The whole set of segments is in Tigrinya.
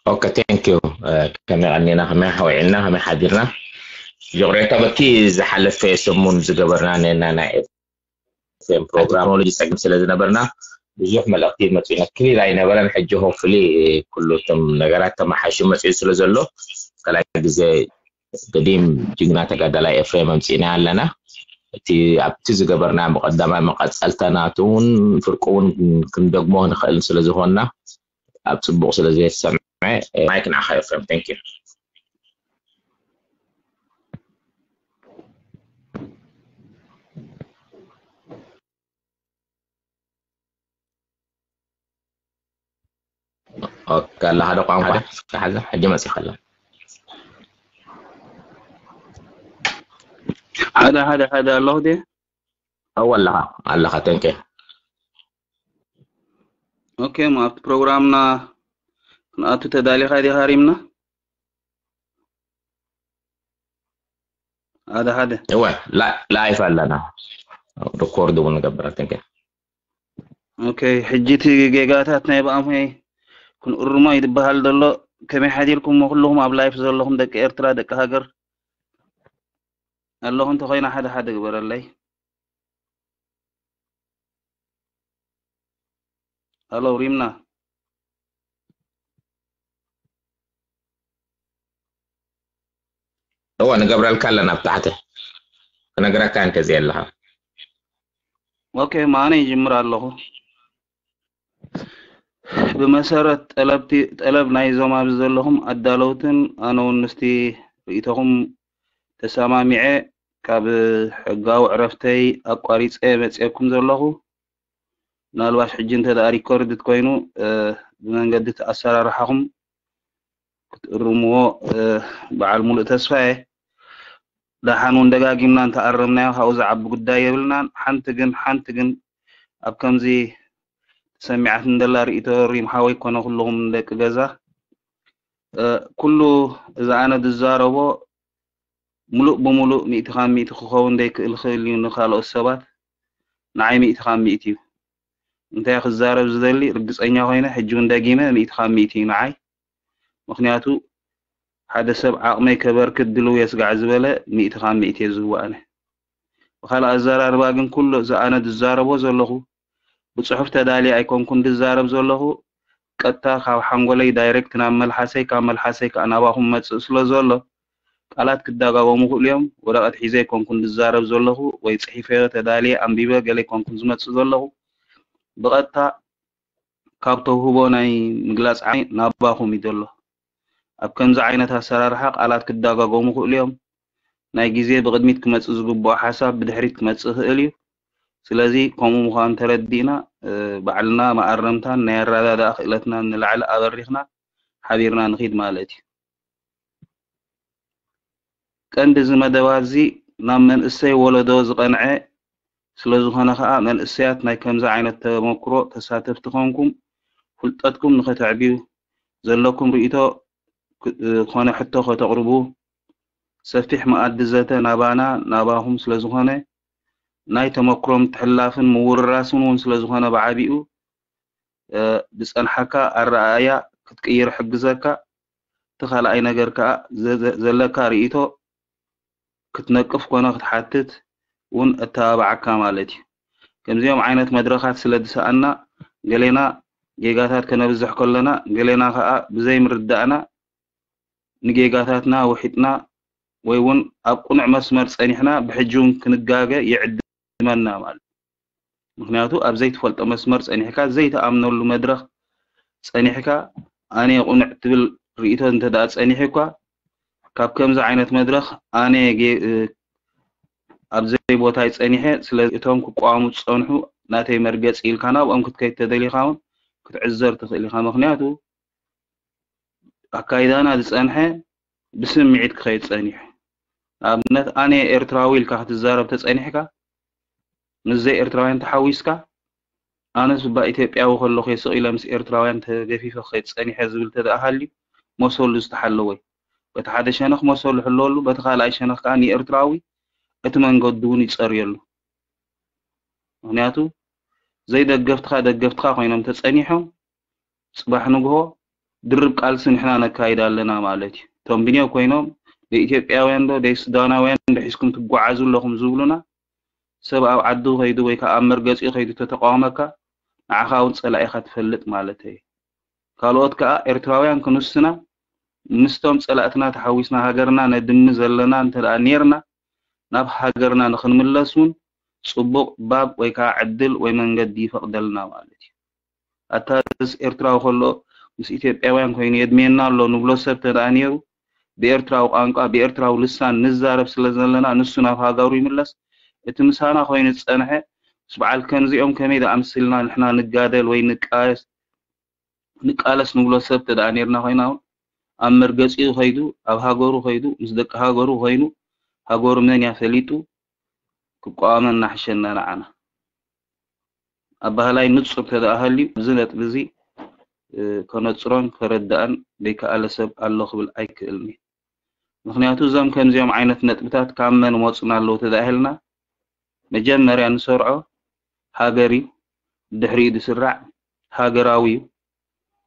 ኦኬ፣ thank you። ከመይ ቀኒና፣ ከመይ ሓዊዕና፣ ከመይ ሓዲርና? ይቕሬታ፣ በቲ ዝሓለፈ ሰሙን ዝገበርና ነና ናይ ኤፍኤም ፕሮግራም ቴክኖሎጂ ጸገም ስለ ዝነበርና ብዙሕ መልእኽቲ መጺኡና ክሊር ኣይነበረን። ሕጂ ሆፕፉሊ ኩሉ እቶም ነገራት ተመሓይሹ መጺኡ ስለ ዘሎ ካልኣይ ግዜ ገዲም ጅግና ተጋዳላይ ኤፍሬም ኣምጺእና ኣለና። እቲ ኣብቲ ዝገበርና ብቐዳማይ መቐጸልታ ናቱ እውን ፍርቁ እውን ክንደግሞ ንኽእል ስለ ዝኾንና ኣብ ጽቡቕ ስለ ዝተሰምዐ ማይክ ንዓኻ ኤፍሬም። Thank you። ኦኬ፣ ኣላ ሓደ ቋንቋ ሓደ። እስኪ ሓዛ፣ ሕጂ መጺኻ ኣላ። ሓደ፣ ሓደ፣ ሓደ ኣለኹ ድየ? ኣዎ፣ ኣለኻ፣ ኣለኻ፣ thank you። ኦኬ፣ እሞ ኣብቲ ፕሮግራምና ክንኣቱ ተዳሊኻ ዲኻ ሪምና? ሓደ፣ ሓደ። እወ፣ ላ-፣ ላይፍ ኣለና። ሪኮርድ እውን ንገብር፣ thank you። ኦኬ፣ ሕጂ እቲ ጌጋታት ናይ ብኣምሆይ ክንእርሞ እዩ ዝበሃል ዘሎ። ከመይ ሓዲርኩምሞ ኩልኹም ኣብ ላይፍ ዘለኹም ደቂ ኤርትራ፣ ደቂ ሃገር ኣለኹም እንተኾይና ሓደ ሓደ ግበረለይ። ሃሎ፣ ሪምና። እወ፣ ንገብረልካ ኣለና ኣብ ታሕቲ። ክነግረካ እንተዘይ ኣለኻ። ኦኬ፣ ማነ ይጅምር ኣለኹ። ብመሰረት ጠለብቲ-፣ ጠለብ ናይዞም ኣብዚ ዘለኹም ኣዳለውትን ኣነ እውን ምስቲ ርእይቶኹም ተሰማሚዐ ካብ ሕጋዊ ዕረፍተይ ኣቋሪጸ መጽኤኩም ዘለኹ። ምናልባሽ ሕጂ እንተ ደኣ ሪኮርድ ኮይኑ፣ እ፣ ብመንገዲ እቲ ኣሰራርሓኹም ክትእርምዎ፣ እ፣ በዓል ሙሉእ ተስፋ እየ። ደሓን እውን ደጋጊምና እንተኣረምናዮ ካብኡ ዝዓቢ ጉዳይ የብልናን። ሓንቲ ግን፣ ሓንቲ ግን ኣብ ከምዚ ተሰሚዓትኒ ዘላ ርእይቶ ሪም ሓወይ ኮነ ኩልኹም ደቂ ገዛ፣ እ፣ ኩሉ እዚ ኣነ ዝዛረቦ ሙሉእ ብሙሉእ ሚእቲ ካብ ሚእቲ ክኸውን ዘይክእል ይኽእል እዩ ንኻልኦት ሰባት፣ ንዓይ ሚእቲ ካብ ሚእቲ እዩ። እንታይ ክዛረብ ዝደሊ ርግጸኛ ኮይነ ሕጂ እውን ደጊመ ሚእቲ ካብ ሚእቲ እዩ ንዓይ። ምኽንያቱ ሓደ ሰብ ዓቕመይ ከበርክት ድልው እየ ስጋዕ ዝበለ ሚእቲ ካብ ሚእቲ እየ ዝህቦ ኣነ። ብኻልእ ኣዘራርባ ግን ኩሉ እዚ ኣነ ዝዛረቦ ዘለኹ ብጽሑፍ ተዳልየ ኣይኮንኩን ዝዛረብ ዘለኹ፣ ቀጥታ ካብ ሓንጎለይ ዳይሬክት ናብ መልሓሰይ፣ ካብ መልሓሰይ ከኣ ናባኹም መጽእ ስለ ዘሎ፣ ቃላት ክደጋገሙ ይኽእሉ እዮም። ወረቐት ሒዘ ኣይኮንኩን ዝዛረብ ዘለኹ ወይ ጽሒፈዮ ተዳልየ ኣንቢበ ገለ ኣይኮንኩን ዝመጽእ ዘለኹ። ብቐጥታ ካብ ተውህቦ ናይ ምግላጽ ዓቕመይ ናባኹም እዩ ዘሎ። ኣብ ከምዚ ዓይነት ኣሰራርሓ ቃላት ክደጋገሙ ይኽእሉ እዮም። ናይ ግዜ ብቕድሚት ክመጽእ ዝግብኦ ሓሳብ ብድሕሪት ክመጽእ ይኽእል እዩ። ስለዚ ከምኡ ምዃኑ ተረዲእና፣ እ፣ ባዕልና መኣረምታን ናይ ኣረዳድኣ ክእለትናን ንላዕሊ ኣበሪኽና ሓቢርና ንኺድ ማለት እዩ። ቀንዲ እዚ መደባት እዚ ናብ መንእሰይ ወለዶ ዝቐንዐ ስለ ዝኾነ ከኣ መንእሰያት ናይ ከምዚ ዓይነት ተመክሮ ተሳተፍቲ ኮንኩም ፍልጠትኩም ንኸተዕብዩ ዘለኩም ርእይቶ ክ-፣ ኮነ ሕቶ ከተቕርቡ ሰፊሕ መኣዲ ዘተ ናባና ናባኹም ስለ ዝኾነ ናይ ተመክሮ ምትሕልላፍን ምውርራስን እውን ስለ ዝኾነ ብዓቢኡ፣ እ፣ ዝጸንሓካ ኣረኣእያ ክትቅይር ይሕግዘካ። እቲ ካልኣይ ነገር ከኣ ዘ-፣ ዘ-፣ ዘለካ ርእይቶ ክትነቅፍ ኮነ ክትሓትት እውን እተባብዓካ ማለት እዩ። ከምዚኦም ዓይነት መድረኻት ስለ ዝሰኣና ገሌና ጌጋታት ከነብዝሕ ከለና ገሌና ከኣ ብዘይምርዳእና ንጌጋታትና ውሒጥና ወይ እውን ኣብ ቅኑዕ መስመር ጸኒሕና ብሕጂ እውን ክንጋገ ይዕድመና ማለት እዩ። ምኽንያቱ ኣብ ዘይትፈልጦ መስመር ጸኒሕካ፣ ዘይትኣምነሉ መድረኽ ጸኒሕካ፣ ኣነ ቅኑዕ ትብል ርእይቶ እንተ ደኣ ጸኒሑ እኳ፣ ካብ ከምዚ ዓይነት መድረኽ ኣነ ጌ-፣ እ፣ ኣብ ዘይቦታይ ጸኒሐ፣ ስለዚ እቶም ክቃወሙ ዝጸንሑ ናተይ መርገጺ ኢልካ ናብኦም ክትከይድ ተደሊኻ እውን ክትዕዘር ትኽእል ኢኻ። ምኽንያቱ ኣካይዳና ዝጸንሐ ብስምዒት ክኸይድ ጸኒሑ። ንኣብነት ኣነ ኤርትራዊ ኢልካ ክትዛረብ ተጸኒሕካ፣ ምስ ዘይኤርትራውያን ተሓዊስካ፣ ኣነስ እባ ኢትዮጵያዊ ከለኹ እየ ስቕ ኢለ ምስ ኤርትራውያን ተገፊፈ ክኸይድ ጸኒሐ ዝብል ተደኣ ሃልዩ፣ መሰሉ ዝተሓለወ እዩ። በቲ ሓደ ሸነኽ መሰሉ ይሕለወሉ፣ በቲ ካልኣይ ሸነኽ ከኣ ንኤርትራዊ እቲ መንገዱ እውን ይጸርየሉ። ምኽንያቱ ዘይደገፍትኻ ደገፍትኻ ኮይኖም ተጸኒሖም፣ ጽባሕ ንግሆ ድርብ ቃልሲ ንሕና ነካይድ ኣለና ማለት እዩ። እቶም ብንዮ ኮይኖም ደይ ኢትዮጵያውያን ዶ ደይ ሱዳናውያን ዶ ሒዝኩም ትጓዓዙ ኣለኹም ዝብሉና፣ ሰብ ኣብ ዓዱ ከይዱ ወይ ከዓ ኣብ መርገፂኡ ከይዱ ተተቃወመካ፣ ንዓኻ እውን ፀላኢኻ ትፈልጥ ማለት እዩ። ካልኦት ከዓ ኤርትራውያን ክንስና ምስቶም ፀላእትና ተሓዊስና ሃገርና ነድሚ ዘለና እንተ ደኣ ኔርና፣ ናብ ሃገርና ንክንምለስ እውን ፅቡቕ ባብ ወይ ከዓ ዕድል ወይ መንገዲ ይፈቕደልና ማለት እዩ። ኣታ እዚስ ኤርትራዊ ከሎ ምስ ኢትዮጵያውያን ኮይኑ የድምየና ኣሎ ንብሎ ሰብ ተደኣ ነይሩ፣ ብኤርትራዊ ቋንቋ ብኤርትራዊ ልሳን ንዛረብ ስለ ዘለና ንሱ ናብ ሃገሩ ይምለስ። እቲ ምሳና ኮይኑ ዝጸንሐ ምስ በዓል ከምዚኦም ከመይ ደኣ ኣምሲልና ንሕና ንጋደል ወይ ንቃየስ ንቃለስ ንብሎ ሰብ ተደኣ ነይርና ኮይና እውን ኣብ መርገጺኡ ከይዱ ኣብ ሃገሩ ከይዱ ምስ ደቂ ሃገሩ ኮይኑ ሃገሩ መን እያ ፈሊጡ ክቋወመና ሕሸና ንዓና። ኣባህላይ ንጹር ተደኣ ሃልዩ፣ እዚ ነጥቢ እዚ ከነጽሮን ከረድኣን ዘይከኣለ ሰብ ኣሎ ክብል ኣይክእልን እየ። ምኽንያቱ እዞም ከምዚኦም ዓይነት ነጥብታት ካብ መን መጹና ኣለዉ ተደኣ ኢልና፣ መጀመርያ ንሰርዖ ሃገር እዩ፣ ድሕሪኡ ዝስራዕ ሃገራዊ እዩ፣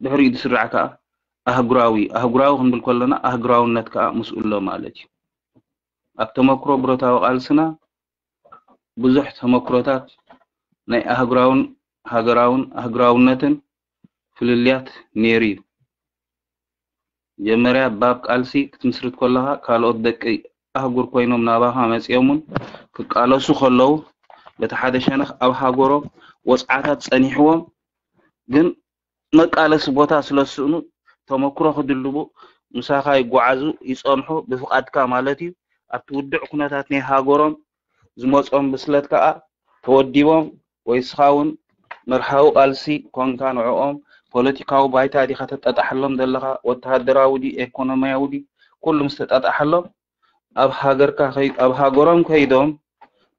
ድሕሪኡ ዝስራዕ ከኣ ኣህጉራዊ እዩ። ኣህጉራዊ ክንብል ከለና ኣህጉራውነት ከኣ ምስኡ ኣሎ ማለት እዩ። ኣብ ተመክሮ ብረታዊ ቃልስና ብዙሕ ተመክሮታት ናይ ኣህጉራውን ሃገራውን ኣህጉራውነትን ፍልልያት ነይሩ እዩ። መጀመርያ ባብ ቃልሲ ክትምስርት ከለኻ ካልኦት ደቂ ኣህጉር ኮይኖም ናባኻ መጺኦምን ክቃለሱ ከለዉ በቲ ሓደ ሸነኽ ኣብ ሃገሮም ወጽዓታት ጸኒሕዎም ግን መቃለሲ ቦታ ስለ ዝስእኑ ተመክሮ ክድልቡ ምሳኻ ይጓዓዙ ይጸንሑ ብፍቓድካ ማለት እዩ። ኣብቲ ውድዕ ኩነታት ናይ ሃገሮም ዝመጾም ብስለት ከኣ ተወዲቦም ወይ እስኻ እውን መርሃዊ ቃልሲ ኮንካ ንዕኦም ፖለቲካዊ ባይታ ዲኻ ተጣጣሓሎም ዘለኻ ወተሃደራዊ ድዩ ኤኮኖሚያዊ ድዩ ኩሉ ምስ ተጣጣሓሎም ኣብ ሃገርካ ከይ ኣብ ሃገሮም ከይዶም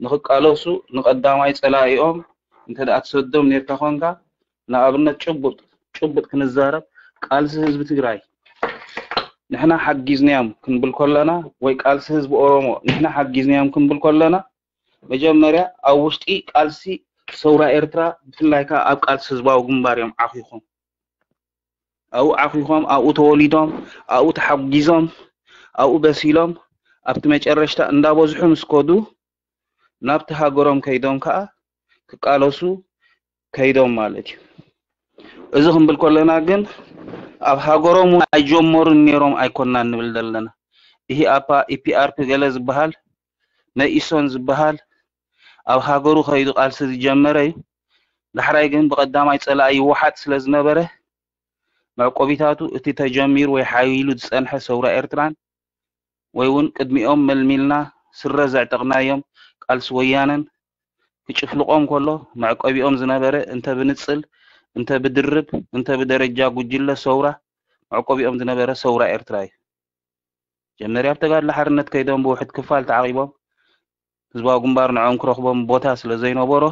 ንኽቃለሱ ንቐዳማይ ጸላኢኦም እንተ ደኣ ትሰዶም ኔርካ ኮንካ ንኣብነት ጭቡጥ ጭቡጥ ክንዛረብ ቃልሲ ህዝቢ ትግራይ ንሕና ሓጊዝናዮም ክንብል ከለና ወይ ቃልሲ ህዝቢ ኦሮሞ ንሕና ሓጊዝናዮም ክንብል ከለና መጀመርያ ኣብ ውሽጢ ቃልሲ ሰውራ ኤርትራ ብፍላይ ከዓ ኣብ ቃልሲ ህዝባዊ ግንባር እዮም ዓኺኾም ኣብኡ ዓኺኾም ኣብኡ ተወሊዶም ኣብኡ ተሓጒዞም ኣብኡ በሲሎም ኣብቲ መጨረሽታ እንዳበዝሑ ምስ ከዱ ናብቲ ሃገሮም ከይዶም ከዓ ክቃለሱ ከይዶም ማለት እዩ። እዚ ክንብል ከለና ግን ኣብ ሃገሮም እውን ኣይጀመሩን ነይሮም ኣይኮናን ንብል ዘለና። ኢህኣፓ፣ ኢፒኣርፒ ገለ ዝበሃል መኢሶን ዝበሃል ኣብ ሃገሩ ከይዱ ቃልሲ ዝጀመረ እዩ። ዳሕራይ ግን ብቐዳማይ ጸላኢ ይወሓጥ ስለ ዝነበረ መዕቆቢታቱ እቲ ተጀሚሩ ወይ ሓይሉ ዝጸንሐ ሰውራ ኤርትራን ወይ እውን ቅድሚኦም መልሚልና ስረ ዘዕጠቕናዮም ቃልሲ ወያነን ክጭፍልቖም ከሎ መዕቆቢኦም ዝነበረ እንተ ብንጽል እንተ ብድርብ እንተ ብደረጃ ጉጅለ ሰውራ መዕቆቢኦም ዝነበረ ሰውራ ኤርትራ እዩ። መጀመርያ ኣብ ተጋድሎ ሓርነት ከይዶም ብውሕድ ክፋል ተዓቒቦም ህዝባዊ ግንባር ንዕኦም ክረኽቦም ቦታ ስለ ዘይነበሮ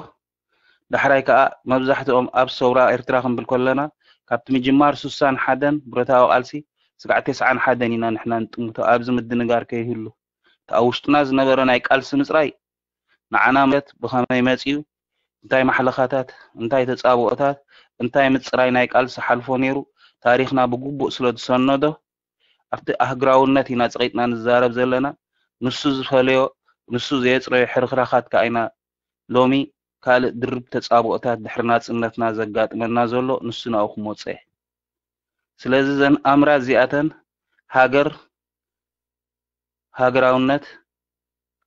ዳሕራይ ከኣ መብዛሕትኦም ኣብ ሰውራ ኤርትራ ክንብል ከለና ካብቲ ምጅማር ሱሳን ሓደን ብረታዊ ቃልሲ ስጋዕ ተስዓን ሓደን ኢና ንሕና ንጥምቶ ኣብዚ ምድንጋር ከይህሉ እቲ ኣብ ውሽጥና ዝነበረ ናይ ቃልሲ ምጽራይ ንዓና ማለት ብኸመይ መጺኡ እንታይ ማሕለኻታት እንታይ ተጻብኦታት እንታይ ምጽራይ ናይ ቃልሲ ሓልፎ ነይሩ ታሪኽና ብግቡእ ስለ ዝሰነዶ ኣብቲ ኣህግራውነት ኢና ጸቒጥና ንዛረብ ዘለና ንሱ ዝፈለዮ ንሱ ዘየጽረዮ ሕርኽራኻት ከኣ ኢና ሎሚ ካልእ ድርብ ተጻብኦታት ድሕሪ ናጽነትና ዘጋጥመና ዘሎ ንሱ ናብኡ ክመጽእ እየ። ስለዚ እዘን ኣምራት እዚኣተን ሃገር፣ ሃገራውነት፣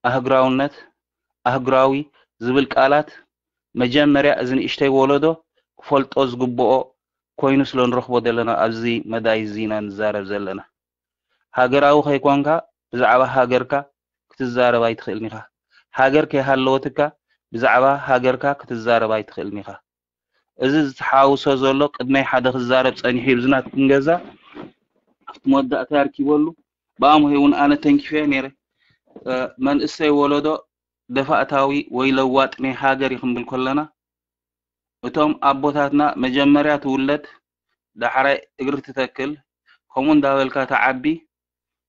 ኣህግራውነት፣ ኣህግራዊ ዝብል ቃላት መጀመርያ እዚ ንእሽተይ ወለዶ ክፈልጦ ዝግብኦ ኮይኑ ስለ ንረኽቦ ዘለና ኣብዚ መዳይ እዚ ኢና ንዛረብ ዘለና። ሃገራዊ ከይኮንካ ብዛዕባ ሃገርካ ክትዛረብ ኣይትኽእልን ኢኻ። ሃገር ከይሃለወትካ ብዛዕባ ሃገርካ ክትዛረብ ኣይትኽእልን ኢኻ። እዚ ዝተሓውሶ ዘሎ ቅድመይ ሓደ ክዛረብ ጸኒሑ እዩ። ብዝናትኩም ገዛ ኣብቲ መወዳእታ ኣርኪበሉ ብኣምሆይ እውን ኣነ ተንኪፈ ነይረ። መንእሰይ ወለዶ ደፋእታዊ ወይ ለዋጥ ናይ ሃገር ይኽንብል ከለና እቶም ኣቦታትና መጀመርያ ትውለድ ዳሕራይ እግሪ ትተክል ከምኡ እንዳበልካ ተዓቢ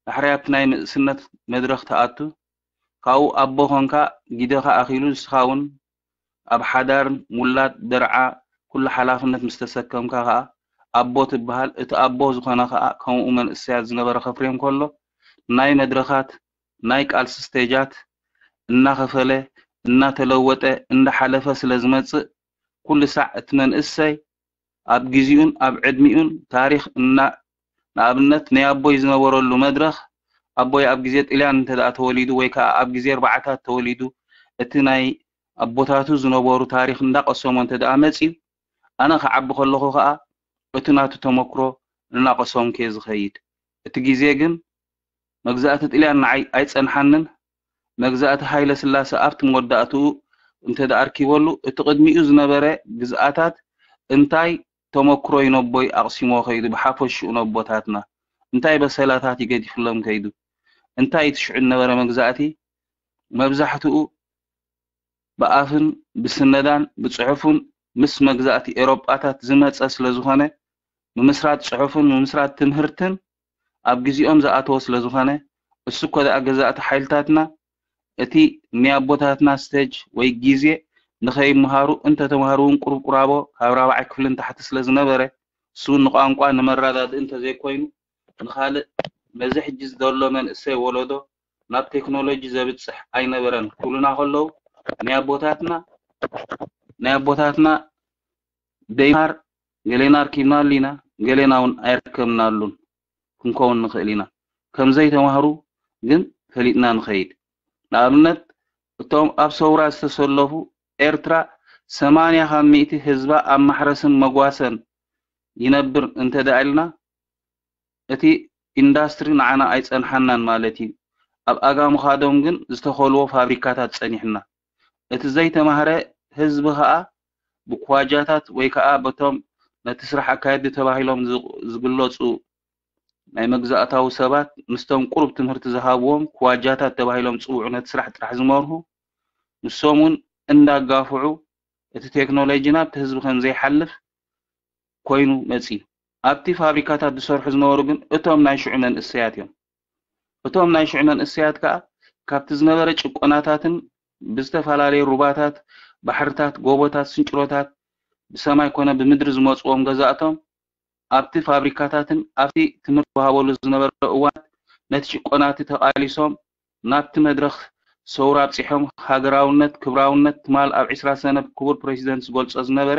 ዳሕራይ ኣብቲ ናይ ንእስነት መድረኽ ትኣቱ ካብኡ ኣቦ ኾንካ ጊደኻ ኣኺሉ ንስኻ እውን ኣብ ሓዳር ውላድ ደርዓ ኩሉ ሓላፍነት ምስ ተሰከምካ ኸኣ ኣቦ ትበሃል። እቲ ኣቦ ዝኾነ ከዓ ከምኡ መንእሰያት ዝነበረ ከፍርዮም ከሎ ናይ መድረኻት ናይ ቃልሲ ስቴጃት እናኸፈለ እናተለወጠ እንዳሓለፈ ስለ ዝመፅእ ኩሉ ሳዕ እቲ መንእሰይ ኣብ ግዚኡን ኣብ ዕድሚኡን ታሪኽ እና ንኣብነት ናይ ኣቦይ ዝነበረሉ መድረኽ ኣቦይ ኣብ ግዜ ጥልያን እንተ ደኣ ተወሊዱ ወይ ከዓ ኣብ ግዜ ኣርባዓታት ተወሊዱ እቲ ናይ ኣቦታቱ ዝነበሩ ታሪኽ እንዳቐሰሞ እንተ ደኣ መፅዩ ኣነ ክዓቢ ከለኹ ከዓ እቲ ናቱ ተመክሮ እናቐሰምኩ እየ ዝኸይድ። እቲ ግዜ ግን መግዛእቲ ጥልያን ንዓይ ኣይጸንሓንን። መግዛእቲ ሃይለ ስላሰ ኣብቲ መወዳእትኡ እንተ ደኣ ኣርኪበሉ፣ እቲ ቅድሚኡ ዝነበረ ግዝኣታት እንታይ ተመክሮ እዩ ነቦይ ኣቕሲሞ ከይዱ፣ ብሓፈሽኡ ነቦታትና እንታይ በሰላታት እዩ ገዲፍሎም ከይዱ፣ እንታይ እቲ ሽዑ ዝነበረ መግዛእቲ መብዛሕትኡ ብኣፍን ብስነዳን ብጽሑፍን ምስ መግዛእቲ ኤሮጳታት ዝመጸ ስለ ዝኾነ፣ ምምስራት ጽሑፍን ምምስራት ትምህርትን ኣብ ግዜኦም ዝኣተወ ስለ ዝኾነ፣ እሱ እኮ ደኣ ገዛእቲ ሓይልታትና እቲ ናይ ኣቦታትና ስቴጅ ወይ ግዜ ንኸይመሃሩ እንተተማህሩ እውን ቁሩብ ቁራቦ ካብ ራብዓይ ክፍሊ ንታሕቲ ስለ ዝነበረ፣ እሱ እውን ንቋንቋ ንመረዳድኢ እንተዘይኮይኑ ንኻልእ ነዚ ሕጂ ዘሎ መንእሰይ ወለዶ ናብ ቴክኖሎጂ ዘብጽሕ ኣይነበረን ክብሉና ከለዉ ናይ ኣቦታትና ናይ ኣቦታትና ደይማር ገሌና ኣርኪብናሉ ኢና፣ ገሌና እውን ኣይርከብናሉን ክንከውን ንኽእል ኢና። ከም ዘይተማህሩ ግን ፈሊጥና ንኸይድ። ንኣብነት እቶም ኣብ ሰውራ ዝተሰለፉ ኤርትራ ሰማንያ ካብ ሚእቲ ህዝባ ኣብ ማሕረስን መጓሰን ይነብር እንተ ደኣ ኢልና እቲ ኢንዳስትሪ ንዓና ኣይጸንሓናን ማለት እዩ። ኣብ ኣጋ ምኻዶም ግን ዝተኸልዎ ፋብሪካታት ጸኒሕና። እቲ ዘይተማህረ ህዝቢ ከኣ ብኳጃታት ወይ ከኣ በቶም ነቲ ስራሕ ኣካየድቲ ተባሂሎም ዝግለጹ ናይ መግዛእታዊ ሰባት ምስቶም ቁሩብ ትምህርቲ ዝሃብዎም ክዋጃታት ተባሂሎም ዝጽውዑ ነቲ ስራሕ ጥራሕ ዝመርሁ ንሶም እውን እንዳጋፍዑ እቲ ቴክኖሎጂ ናብቲ ህዝቢ ከም ዘይሓልፍ ኮይኑ መጺኡ። ኣብቲ ፋብሪካታት ዝሰርሑ ዝነበሩ ግን እቶም ናይ ሽዑ መንእሰያት እዮም። እቶም ናይ ሽዑ መንእሰያት ከኣ ካብቲ ዝነበረ ጭቆናታትን ብዝተፈላለየ ሩባታት፣ ባሕርታት፣ ጎቦታት፣ ስንጭሮታት ብሰማይ ኮነ ብምድሪ ዝመጽዎም ገዛእቶም ኣብቲ ፋብሪካታትን ኣብቲ ትምህርቲ ዝወሃበሉ ዝነበረ እዋን ነቲ ጭቆናቲ ተቓሊሶም ናብቲ መድረኽ ሰውራ ኣብጺሖም ሃገራውነት፣ ክብራውነት ትማል ኣብ ዕስራ ሰነ ክቡር ፕረሲደንት ዝገልጾ ዝነበረ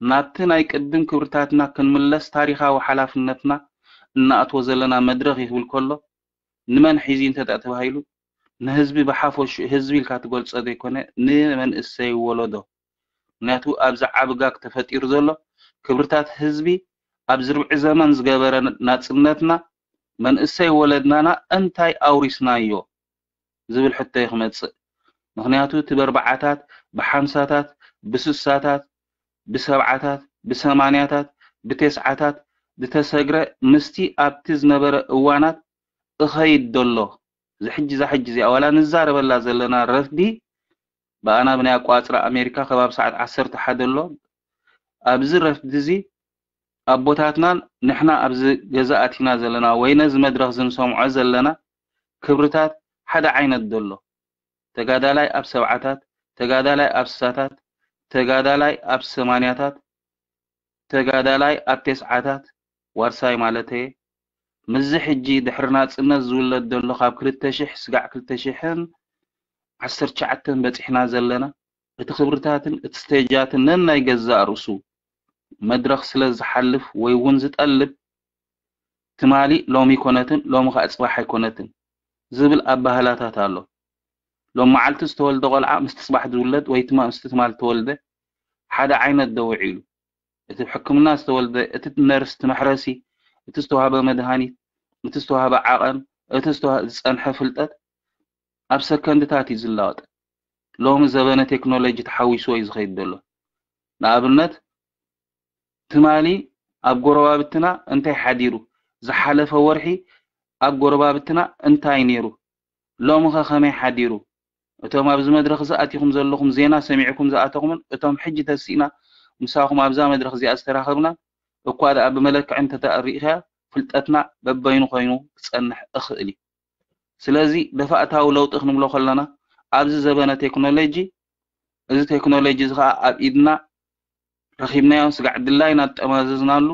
ናብቲ ናይ ቅድም ክብርታትና ክንምለስ ታሪኻዊ ሓላፍነትና እናኣትዎ ዘለና መድረኽ እዩ ክብል ከሎ ንመን ሒዙ እንተ ተባሂሉ ንህዝቢ ብሓፈሽኡ ህዝቢ ኢልካ ትገልጾ ዘይኮነ ንመንእሰይ ወለዶ ምክንያቱ ኣብዚ ዓቢ ጋግ ተፈጢሩ ዘሎ ክብርታት ህዝቢ ኣብዚ ርብዒ ዘመን ዝገበረ ናጽነትና መንእሰይ ወለድናና እንታይ ኣውሪስናዮ ዝብል ሕቶ እዩ ክመጽእ። ምክንያቱ እቲ በርባዓታት፣ ብሓምሳታት፣ ብስሳታት፣ ብሰብዓታት፣ ብሰማንያታት፣ ብቴስዓታት ዝተሰግረ ምስቲ ኣብቲ ዝነበረ እዋናት እኸይድ ደሎ። እዚ ሕጂ እዛ ሕጂ እዚኣ ዋላ ንዛረበላ ዘለና ረፍዲ ብኣና ብናይ ኣቋጽራ ኣሜሪካ ከባቢ ሰዓት ዓሰርተ ሓደ ኣሎ። ኣብዚ ረፍዲ እዚ ኣቦታትናን ንሕና ኣብዚ ገዛ ኣቲና ዘለና ወይ ነዚ መድረኽ እዚ ንሰምዖ ዘለና ክብርታት ሓደ ዓይነት ዘሎ። ተጋዳላይ ኣብ ሰብዓታት፣ ተጋዳላይ ኣብ ስሳታት፣ ተጋዳላይ ኣብ ሰማንያታት፣ ተጋዳላይ ኣብ ቴስዓታት ዋርሳይ ማለተየ። ምስዚ ሕጂ ድሕሪ ናጽነት ዝውለድ ዘሎ ካብ ክልተ ሽሕ ስጋዕ ክልተ ሽሕን ዓሰርተ ትሽዓተን በጺሕና ዘለና እቲ ክብርታትን እቲ ስቴጃትን ነናይ ገዛእ ርእሱ መድረኽ ስለ ዝሓልፍ ወይ እውን ዝጠልብ ትማሊ ሎሚ ኣይኮነትን ሎሚ ከዓ ፅባሕ ኣይኮነትን ዝብል ኣባህላታት ኣሎ። ሎም መዓልቲ ዝተወልደ ቆልዓ ምስቲ ፅባሕ ዝውለድ ወይ ምስቲ ትማሊ ዝተወልደ ሓደ ዓይነት ዶ ውዒሉ እቲ ሕክምና ዝተወልደ እቲ ነርስ እቲ መሕረሲ እቲ ዝተዋህበ መድሃኒት እቲ ዝተዋህበ ዓቐን እቲ ዝፀንሐ ፍልጠት ኣብ ሰከንድታት እዩ ዝለወጥ። ሎሚ ዘበነ ቴክኖሎጂ ተሓዊስዎ እዩ ዝኸይድ ዘሎ። ንኣብነት ትማሊ ኣብ ጎረባብትና እንታይ ሓዲሩ፣ ዝሓለፈ ወርሒ ኣብ ጎረባብትና እንታይ ነይሩ፣ ሎምኸ ከመይ ሓዲሩ፣ እቶም ኣብዚ መድረኽ እዚ ኣቲኹም ዘለኹም ዜና ሰሚዕኩም ዝኣተኹምን እቶም ሕጂ ተሲእና ምሳኹም ኣብዛ መድረኽ እዚኣ ዝተራኸብና እኳ ደኣ ብመለክዒ እንተተሪእኻያ ፍልጠትና በበይኑ ኮይኑ ክጸንሕ እኽእል እዩ። ስለዚ ደፋእታዊ ለውጢ ክንብሎ ከለና ኣብዚ ዘበነ ቴክኖሎጂ እዚ ቴክኖሎጂ እዚ ከዓ ኣብ ኢድና ረኺብናዮ ስጋዕ ድላይና ጠማዘዝናሉ፣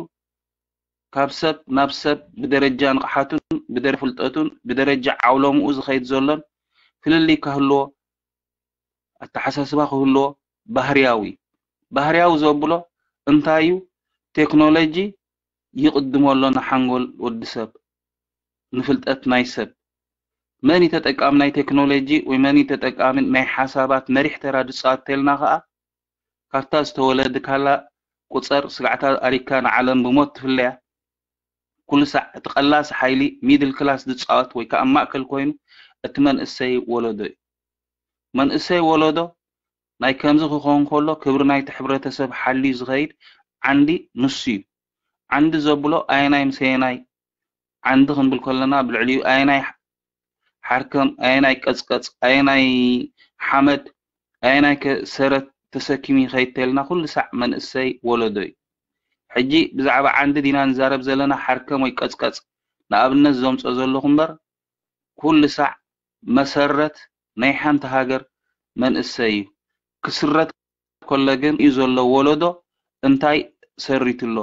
ካብ ሰብ ናብ ሰብ ብደረጃ ንቕሓቱን ብደረጃ ፍልጠቱን ብደረጃ ዓውሎምኡ ዝኸይድ ዘሎን ፍልልይ ክህልዎ፣ ኣተሓሳስባ ክህልዎ ባህርያዊ። ባህርያዊ ዘብሎ እንታይ እዩ? ቴክኖሎጂ ይቕድሞ ኣሎ ንሓንጎል ወዲ ሰብ፣ ንፍልጠት ናይ ሰብ። መን እዩ ተጠቃሚ ናይ ቴክኖሎጂ ወይ መን እዩ ተጠቃሚ ናይ ሓሳባት መሪሕ ተራ ዝፃወት ተልና ከዓ ካብታ ዝተወለድካላ ቁፀር ስጋዕታ ኣሪካ ንዓለም ብሞት ትፍለያ። ኩሉ ሳዕ እቲ ቀላሲ ሓይሊ ሚድል ክላስ ዝፃወት ወይ ከዓ ማእከል ኮይኑ እቲ መንእሰይ ወለዶ እዩ። መንእሰይ ወለዶ ናይ ከምዚ ክኸውን ከሎ ክብሪ ናይቲ ሕብረተሰብ ሓልዩ ዝኸይድ ዓንዲ ንሱ እዩ። ዓንዲ ዘብሎ ኣየናይ ምስ ኣየናይ ዓንዲ ክንብል ከለና ብልዕሊኡ ኣየናይ ሓርከም ኣየናይ ቀፅቀፅ ኣየናይ ሓመድ ኣየናይ ከ ሰረት ተሰኪሙ ይኸይድ ተልና ኩሉ ሳዕ መንእሰይ ወለዶ እዩ። ሕጂ ብዛዕባ ዓንዲ ዲና ንዛረብ ዘለና ሓርከም ወይ ቀፅቀፅ ንኣብነት ዘምፆ ዘለኹ እምበር ኩሉ ሳዕ መሰረት ናይ ሓንቲ ሃገር መንእሰይ እዩ። ክስረት ከሎ ግን እዩ ዘሎ ወለዶ እንታይ ሰሪቱ ኣሎ?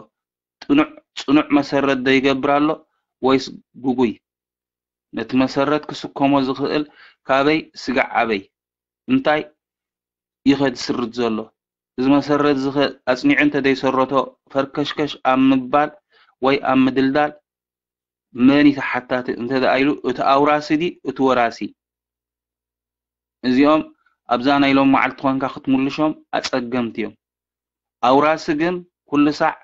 ጥኑዕ ፅኑዕ መሰረት ዶ ይገብር ኣሎ ወይስ ጉጉይ? ነቲ መሰረት ክስከሞ ዝኽእል ካበይ ስጋዕ ኣበይ እንታይ ይኸ ዝስርት ዘሎ? እዚ መሰረት ዝኸ ኣፅኒዑ እንተ ዘይሰረቶ ፈርከሽከሽ ኣብ ምባል ወይ ኣብ ምድልዳል መን እዩ ተሓታቲ እንተ ደኣ ኢሉ እቲ ኣውራሲ ድዩ እቲ ወራሲ? እዚኦም ኣብዛ ናይ ሎም መዓልቲ ኮንካ ክትምልሾም ኣፀገምቲ እዮም። ኣውራሲ ግን ኩሉ ሳዕ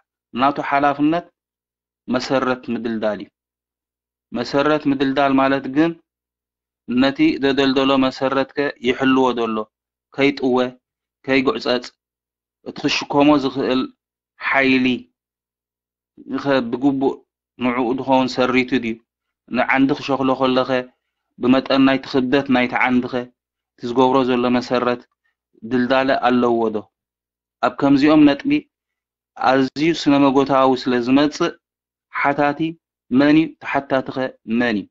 ናቱ ሓላፍነት መሰረት ምድልዳል እዩ። መሰረት ምድልዳል ማለት ግን ነቲ ዘደልደሎ መሰረትከ ይሕልዎ ደሎ ከይጥወ ከይጉዕፀፅ እቲ ክሽከሞ ዝኽእል ሓይሊ ኸ ብግቡእ ንዕኡ ዝኸውን ሰሪቱ ድዩ? ንዓንዲ ክሸኽሎ ከለኸ ብመጠን ናይቲ ክብደት ናይቲ ዓንዲኸ እቲ ዝገብሮ ዘሎ መሰረት ድልዳለ ኣለዎ ዶ? ኣብ ከምዚኦም ነጥቢ ኣዝዩ ስነ መጎታዊ ስለ ዝመጽእ ሓታቲ መን እዩ? ተሓታቲኸ መን እዩ?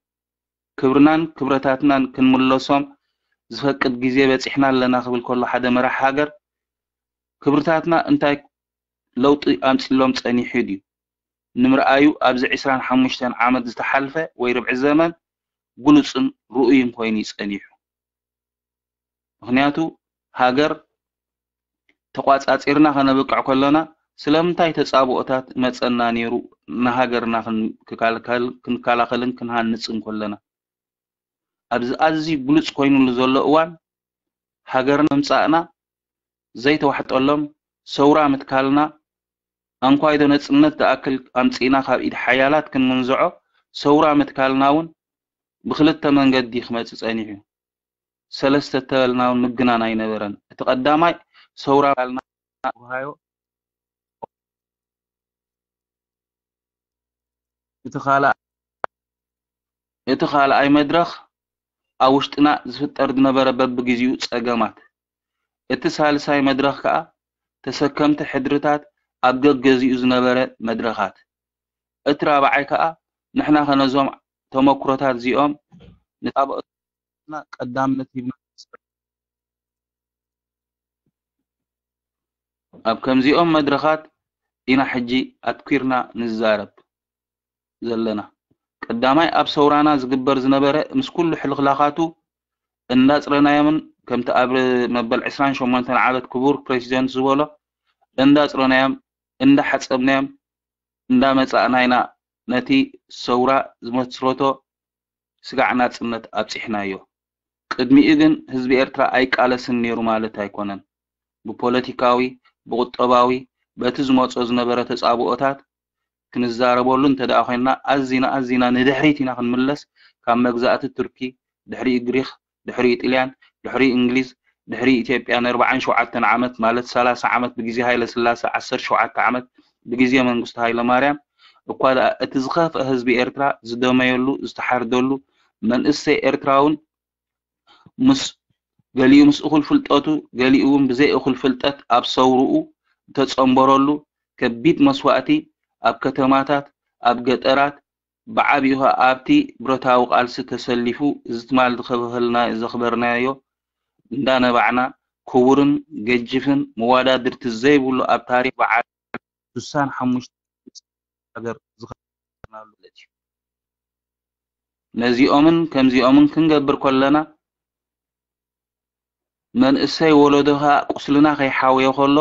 ክብርናን ክብረታትናን ክንምለሶም ዝፈቅድ ግዜ በጺሕና ኣለና ክብል ከሎ ሓደ መራሕ ሃገር ክብርታትና እንታይ ለውጢ ኣምጺሎም ጸኒሑ ድዩ ንምርኣዩ ኣብዚ ዕስራን ሓሙሽተን ዓመት ዝተሓልፈ ወይ ርብዒ ዘመን ግሉጽን ርኡይን ኮይኑ እዩ ጸኒሑ። ምኽንያቱ ሃገር ተቋጻጺርና ከነብቅዕ ከሎና ስለምንታይ ተጻብኦታት መጸና ነይሩ ንሃገርና ክንከላኸልን ክንሃንጽን ከለና ኣብዚ ኣዝዩ ግሉጽ ኮይኑሉ ዘሎ እዋን ሃገርና ምምጻእና ዘይተዋሕጠሎም ሰውራ ምትካልና ኣንኳይዶ ነጽነት ዝኣክል ኣምጺእና ካብ ኢድ ሓያላት ክንምንዝዖ ሰውራ ምትካልና እውን ብክልተ መንገዲ ክመጽእ ጸኒሑ እዩ። ሰለስተ ተበልና እውን ምግናን ኣይነበረን። እቲ ቀዳማይ ሰውራ ምትካልና ተባሃዮ። እቲ ካልኣይ እቲ ካልኣይ መድረኽ ኣብ ውሽጥና ዝፍጠር ዝነበረ በብግዜኡ ጸገማት፣ እቲ ሳልሳይ መድረኽ ከኣ ተሰከምቲ ሕድርታት ኣብ ገገዚኡ ዝነበረ መድረኻት፣ እቲ ራብዓይ ከኣ ንሕና ከ ነዞም ተመኩሮታት እዚኦም ንጣበኦትና ቀዳምነት ሂብና ኣብ ከምዚኦም መድረኻት ኢና ሕጂ ኣትኲርና ንዛረብ ዘለና። ቀዳማይ ኣብ ሰውራና ዝግበር ዝነበረ ምስ ኩሉ ሕልኽላኻቱ እንዳጽረናዮምን ከምቲ ኣብ መበል ዕስራን ሸሞንተን ዓመት ክቡር ፕሬዚደንት ዝበሎ እንዳጽረናዮም እንዳሓጸብናዮም እንዳመጻእና ኢና ነቲ ሰውራ ዝመስረቶ ስጋዕ ናጽነት ኣብጺሕናዮ። ቅድሚኡ ግን ህዝቢ ኤርትራ ኣይቃለስን ነይሩ ማለት ኣይኮነን። ብፖለቲካዊ፣ ብቁጠባዊ፣ በቲ ዝመጾ ዝነበረ ተጻብኦታት ክንዛረበሉ እንተ ደኣ ኮይንና ኣዚና ኣዚና ንድሕሪት ኢና ክንምለስ። ካብ መግዛእቲ ቱርኪ፣ ድሕሪኡ ግሪኽ፣ ድሕሪኡ ጥልያን፣ ድሕሪኡ እንግሊዝ፣ ድሕሪ ኢትዮጵያ ንኣርባዓን ሸውዓተን ዓመት ማለት ሰላሳ ዓመት ብግዜ ሃይለ ስላሰ ዓሰርተ ሸውዓተ ዓመት ብግዜ መንግስቱ ሃይለ ማርያም እኳ ደኣ እቲ ዝኸፍአ ህዝቢ ኤርትራ ዝደመየሉ ዝተሓርደሉ መንእሰይ ኤርትራ እውን ምስ ገሊኡ ምስ እኹል ፍልጠቱ ገሊኡ እውን ብዘይ እኹል ፍልጠት ኣብ ሰውርኡ ዝተጸንበረሉ ከቢድ መስዋእቲ ኣብ ከተማታት ኣብ ገጠራት ብዓቢኡ ከኣ ኣብቲ ብረታዊ ቃልሲ ተሰሊፉ እዚ ትማል ዝኸበህልና ዘኽበርናዮ እንዳነባዕና ክቡርን ገጅፍን መዋዳድርቲ ዘይብሉ ኣብ ታሪኽ በዓል ስሳን ሓሙሽተ ሃገር ዝኸናሉ ማለት እዩ። ነዚኦምን ከምዚኦምን ክንገብር ከለና መንእሰይ ወለዶ ኸኣ ቁስልና ከይሓወዮ ከሎ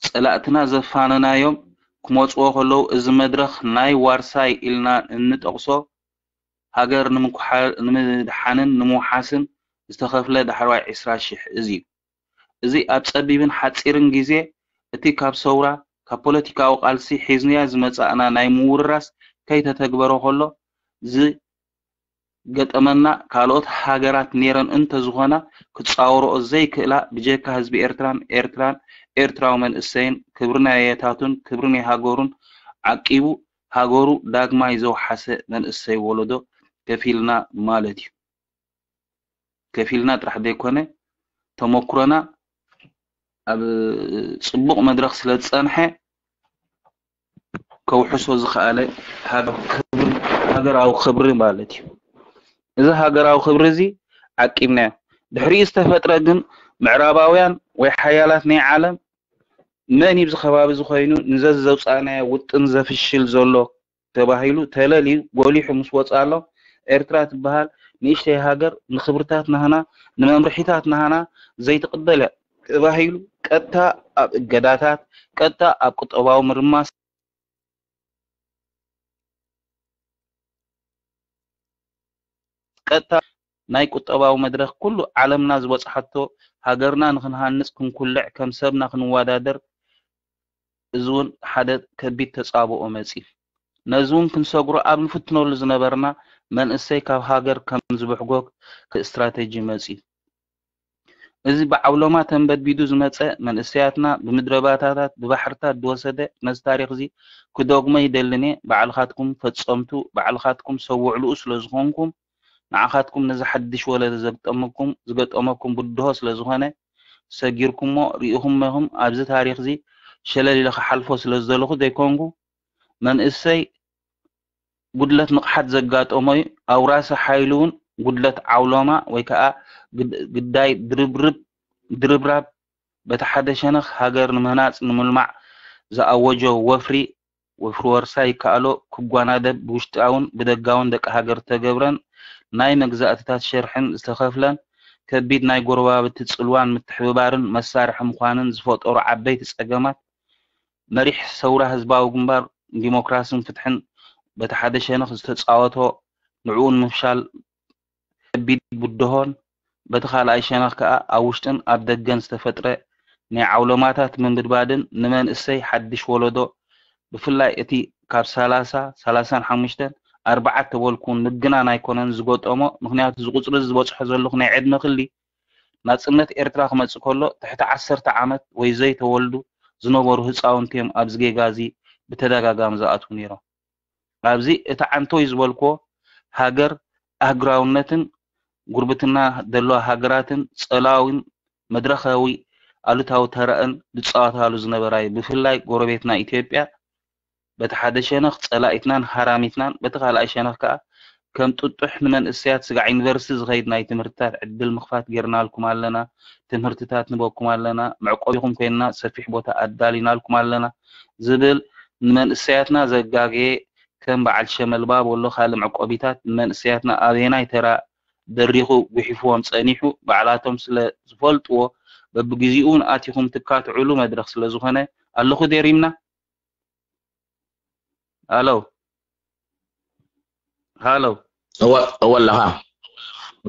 ጸላእትና ዘፋነናዮም ክመጽዎ ከለዉ እዚ መድረኽ ናይ ዋርሳይ ኢልና እንጠቕሶ ሃገር ንምድሓንን ንምውሓስን ዝተኸፍለ ዳሕረዋይ ዕስራ ሽሕ እዚ እዩ። እዚ ኣብ ጸቢብን ሓጺርን ግዜ እቲ ካብ ሰውራ፣ ካብ ፖለቲካዊ ቃልሲ ሒዝናዮ ዝመጻእና ናይ ምውርራስ ከይተተግበረ ከሎ ዝገጠመና ካልኦት ሃገራት ኔረን እንተዝኾና ክጻወርኦ ዘይክእላ ብጀካ ህዝቢ ኤርትራን ኤርትራን ኤርትራዊ መንእሰይን ክብሪ ናይ ኣያታቱን ክብሪ ናይ ሃገሩን ዓቂቡ ሃገሩ ዳግማይ ዘውሓሰ መንእሰይ ወለዶ ከፊልና ማለት እዩ። ከፊልና ጥራሕ ዘይኮነ ተመኩሮና ኣብ ጽቡቕ መድረኽ ስለ ዝጸንሐ ከውሕሶ ዝኸኣለ ሃገራዊ ክብሪ ማለት እዩ። እዚ ሃገራዊ ክብሪ እዚ ዓቂብናዮ። ድሕሪኡ ዝተፈጥረ ግን ምዕራባውያን ወይ ሓያላት ናይ ዓለም መን እዩ ኣብዚ ከባቢ እዚ ኮይኑ ንዘዚ ዘውፃእናዮ ውጥን ዘፍሽል ዘሎ ተባሂሉ ተለልዩ ጎሊሑ ምስ ወፅኣሎም ኤርትራ ትበሃል ንእሽተይ ሃገር ንክብርታት ናህና ንመምርሒታት ናህና ዘይትቕበል እያ ተባሂሉ ቀጥታ ኣብ እገዳታት ቀጥታ ኣብ ቁጠባዊ ምርማስ ቀጥታ ናይ ቁጠባዊ መድረኽ ኩሉ ዓለምና ዝበፅሓቶ ሃገርና ንክንሃንፅ ክንኩልዕ ከም ሰብና ክንወዳደር እዚ እውን ሓደ ከቢድ ተፃብኦ መፂኡ። ነዚ እውን ክንሰግሮ ኣብ ንፍትነሉ ዝነበርና መንእሰይ ካብ ሃገር ከም ዝብሕጎግ ስትራተጂ መፂኡ። እዚ ብዓውሎማ ተንበድቢዱ ዝመጸ መንእሰያትና ብምድረባዳታት ብባሕርታት ዝወሰደ ነዚ ታሪኽ እዚ ክደግሞ ይደልን እየ። ባዕልኻትኩም ፈጸምቱ ባዕልኻትኩም ሰብ ውዕልኡ ስለ ዝኾንኩም ንዓኻትኩም ነዚ ሓድሽ ወለዶ ዘግጠመኩም ዝገጠመኩም ብድሆ ስለ ዝኾነ ሰጊርኩሞ ርኢኹሞ ኢኹም። ኣብዚ ታሪኽ እዚ ሸለል ኢለ ክሓልፎ ስለ ዝደለኹ ዘይኮንኩ መንእሰይ ጉድለት ንቕሓት ዘጋጠሞ እዩ። ኣውራሲ ሓይሉ እውን ጉድለት ዓውሎማ ወይ ከዓ ግዳይ ድርብርብ ድርብራብ በቲ ሓደ ሸነኽ ሃገር ንምህናፅ ንምልማዕ ዝኣወጆ ወፍሪ ወፍሪ ወርሳ ይከኣሎ ክጓናደብ ብውሽጣውን ብደጋውን ደቂ ሃገር ዝተገብረን ናይ መግዛእትታት ሸርሕን ዝተኸፍለን ከቢድ ናይ ጎረባብቲ ፅልዋን ምትሕብባርን መሳርሒ ምዃንን ዝፈጠሩ ዓበይቲ ፀገማት መሪሕ ሰውራ ህዝባዊ ግንባር ንዲሞክራስን ፍትሕን በቲ ሓደ ሸነኽ ዝተፃወቶ ንዕኡ ንምፍሻል ከቢድ ብድሆን በቲ ካልኣይ ሸነኽ ከኣ ኣብ ውሽጥን ኣብ ደገን ዝተፈጥረ ናይ ዓውሎማታት ምንብድባድን ንመንእሰይ ሓድሽ ወለዶ ብፍላይ እቲ ካብ ሰላሳ፣ ሰላሳን ሓሙሽተን፣ ኣርባዓ ተበልኩ ምግናን ኣይኮነን ዝገጠሞ ምኽንያቱ እዚ ቁፅሪ ዝበፅሖ ዘለኹ ናይ ዕድመ ክሊ ናጽነት ኤርትራ ክመጽእ ከሎ ትሕቲ ዓሰርተ ዓመት ወይ ዘይተወልዱ ዝነበሩ ህጻውንቲ እዮም ኣብዚ ጌጋ እዚ ብተደጋጋሚ ዝኣትዉ ነይሮም። ኣብዚ እቲ ዓንቶይ ዝበልክዎ ሃገር ኣህግራውነትን ጉርብትና ዘለዋ ሃገራትን ጸላዊን መድረኻዊ ኣሉታዊ ተራእን ዝጻወታሉ ዝነበራ እዩ። ብፍላይ ጎረቤትና ኢትዮጵያ በቲ ሓደ ሸነኽ ጸላኢትናን ሃራሚትናን በቲ ካልኣይ ሸነኽ ከኣ ከም ጥጡሕ ንመንእሰያት ስጋዕ ዩኒቨርሲቲ ዝኸይድ ናይ ትምህርትታት ዕድል ምኽፋት ጌርናልኩም ኣለና፣ ትምህርትታት ንበኩም ኣለና፣ መዕቆቢኹም ኮይንና ሰፊሕ ቦታ ኣዳሊናልኩም ኣለና ዝብል ንመንእሰያትና ዘጋገየ ከም በዓል ሸመልባ በሎ ካልእ መዕቆቢታት ንመንእሰያትና ኣበየናይ ተራ ደሪኹ ጉሒፍዎም ጸኒሑ ባዕላቶም ስለ ዝፈልጥዎ በብግዚኡ እውን ኣቲኹም ትካትዕሉ መድረኽ ስለ ዝኾነ ኣለኹ ደሪምና። ሃሎ ሃሎ እወ ኣለኻ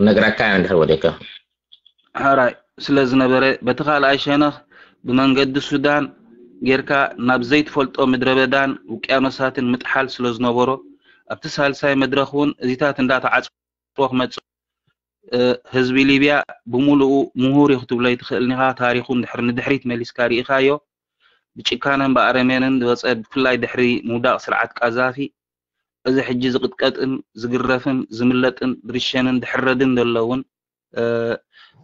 ነግራካ እንድሕር ወደካ ሕራይ ስለ ዝነበረ በቲ ካልኣይ ሸነኽ ብመንገዲ ሱዳን ጌርካ ናብ ዘይትፈልጦ ምድረ በዳን ውቅያኖሳትን ምጥሓል ስለ ዝነበሮ ኣብቲ ሳልሳይ መድረኽ እውን እዚታት እንዳተዓፅዎ ክመፅእ ህዝቢ ሊብያ ብምሉኡ ምሁር እዩ ክትብሎ ኣይትኽእልን ኢኻ። ታሪኹ እንድሕር ንድሕሪት መሊስካ ርኢኻዮ ብጭካነን ብኣረሜንን ዝወፀ ብፍላይ ድሕሪ ምውዳቕ ስርዓት ቃዛፊ እዚ ሕጂ ዝቕጥቀጥን ዝግረፍን ዝምለጥን ዝርሸንን ዝሕረድን ዘሎ እውን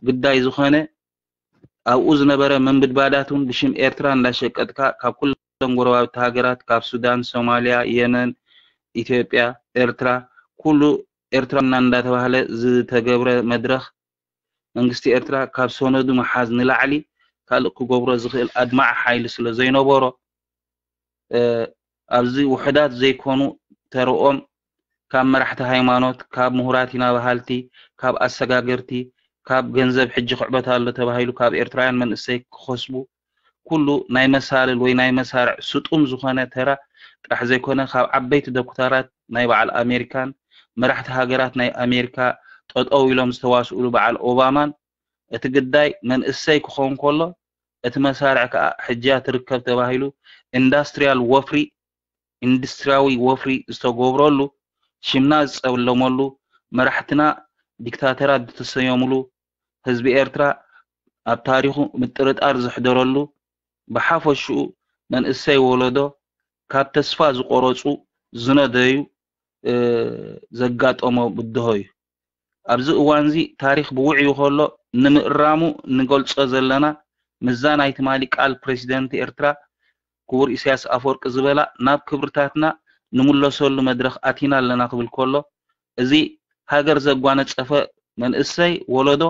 ግዳይ ዝኾነ ኣብኡ ዝነበረ ምንብድባዳት እውን ብሽም ኤርትራ እንዳሸቀጥካ ካብ ኩለን ጎረባብቲ ሃገራት ካብ ሱዳን፣ ሶማልያ፣ የመን፣ ኢትዮጵያ፣ ኤርትራ ኩሉ ኤርትራና እንዳተባህለ ዝተገብረ መድረኽ መንግስቲ ኤርትራ ካብ ሰነዱ ምሓዝ ንላዕሊ ካልእ ክገብሮ ዝኽእል ኣድማዒ ሓይሊ ስለ ዘይነበሮ፣ ኣብዚ ውሑዳት ዘይኮኑ ተርኦም ካብ መራሕቲ ሃይማኖት፣ ካብ ምሁራት ኢና በሃልቲ፣ ካብ ኣሰጋገርቲ፣ ካብ ገንዘብ ሕጂ ክዕበት ኣሎ ተባሂሉ ካብ ኤርትራውያን መንእሰይ ክኸስቡ፣ ኩሉ ናይ መሳልል ወይ ናይ መሳርዕ ስጡም ዝኾነ ተራ ጥራሕ ዘይኮነ፣ ካብ ዓበይቲ ዶክተራት ናይ በዓል ኣሜሪካን መራሕቲ ሃገራት ናይ ኣሜሪካ ጠጠው ኢሎም ዝተዋስኡሉ በዓል ኦባማን፣ እቲ ግዳይ መንእሰይ ክኸውን ከሎ፣ እቲ መሳርዕ ከኣ ሕጂ እያ ትርከብ ተባሂሉ ኢንዳስትሪያል ወፍሪ፣ ኢንዱስትሪያዊ ወፍሪ ዝተገብረሉ፣ ሽምና ዝጸለመሉ፣ መራሕትና ዲክታተራት ዝተሰየሙሉ፣ ህዝቢ ኤርትራ ኣብ ታሪኹ ምጥርጣር ዘሕደረሉ፣ ብሓፈሽኡ መንእሰይ ወለዶ ካብ ተስፋ ዝቆረጹ፣ ዝነደዩ፣ እ፣ ዘጋጠሞ ብድሆ እዩ። ኣብዚ እዋንዚ ታሪኽ ብውዕዩ ከሎ ንምእራሙ ንገልጾ ዘለና፣ ምስዛ ናይ ትማሊ ቃል ፕረሲደንት ኤርትራ ክቡር ኢሳያስ ኣፈወርቂ ዝበላ፣ ናብ ክብርታትና ንምለሰሉ መድረኽ ኣቲና ኣለና ክብል ከሎ፣ እዚ ሃገር ዘጓነጸፈ መንእሰይ ወለዶ፣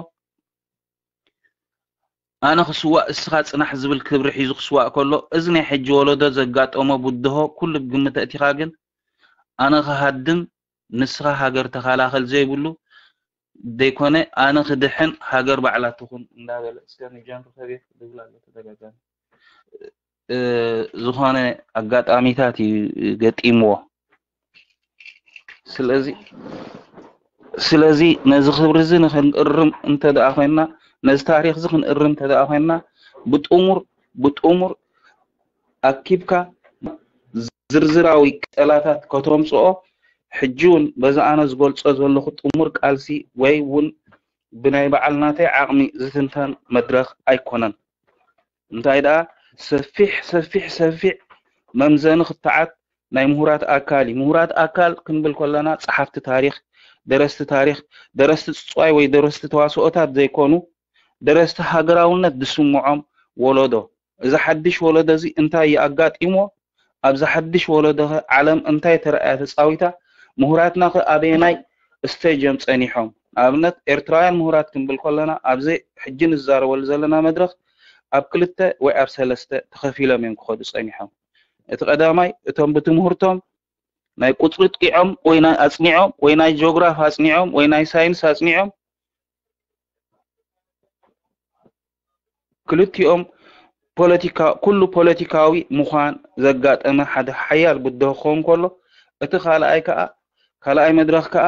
ኣነ ክስዋእ እስኻ ጽናሕ ዝብል ክብሪ ሒዙ ክስዋእ ከሎ፣ እዚ ናይ ሕጂ ወለዶ ዘጋጠሞ ብድሆ ኩሉ ብግምት ኣእቲኻ ግን፣ ኣነ ክሃድም ንስኻ ሃገር ተኸላኸል ዘይብሉ ዘይኮነ፣ ኣነ ክድሕን ሃገር ባዕላ ትኹን እንዳበለ እስከ ንጃን ርኸቤት ዝብል ኣሎ ተደጋጋሚ። እ፣ ዝኾነ ኣጋጣሚታት እዩ ገጢምዎ። ስለዚ ስለዚ ነዚ ክብሪ እዚ ንክንእርም እንተ ደኣ ኮይንና፣ ነዚ ታሪኽ እዚ ክንእርም እንተ ደኣ ኮይንና፣ ብጥሙር ብጥሙር ኣኪብካ ዝርዝራዊ ቅጠላታት ከተምጽኦ፣ ሕጂ እውን በዚ ኣነ ዝገልጾ ዘለኹ ጥሙር ቃልሲ ወይ እውን ብናይ በዓል ናተይ ዓቕሚ ዝትንተን መድረኽ ኣይኮነን። እንታይ ደኣ ሰፊሕ ሰፊሕ ሰፊሕ መምዘኒ ክትዓት ናይ ምሁራት ኣካል እዩ። ምሁራት ኣካል ክንብል ከለና ጸሓፍቲ ታሪኽ፣ ደረስቲ ታሪኽ፣ ደረስቲ ጽጽዋይ ወይ ደረስቲ ተዋስኦታት ዘይኮኑ፣ ደረስቲ ሃገራውነት ዝስምዖም ወለዶ። እዚ ሓድሽ ወለዶ እዚ እንታይ እዩ ኣጋጢምዎ? ኣብዚ ሓድሽ ወለዶ ኸ ዓለም እንታይ ተራእያ ተጻዊታ? ምሁራትና ኸ ኣበየናይ ስቴጅ እዮም ጸኒሖም? ንኣብነት ኤርትራውያን ምሁራት ክንብል ከለና ኣብዚ ሕጂ ንዛረበሉ ዘለና መድረኽ ኣብ ክልተ ወይ ኣብ ሰለስተ ተኸፊሎም እዮም ክኸዱ ጸኒሖም። እቲ ቀዳማይ እቶም ብትምህርቶም ናይ ቁጽሪ ጥቂዖም ወይ ናይ ኣጽኒዖም ወይ ናይ ጂኦግራፍ ኣጽኒዖም ወይ ናይ ሳይንስ ኣጽኒዖም ክልቲኦም ፖለቲካ ኩሉ ፖለቲካዊ ምዃን ዘጋጠመ ሓደ ሓያል ብድሆ ክኸውን ከሎ፣ እቲ ካልኣይ ከኣ ካልኣይ መድረኽ ከኣ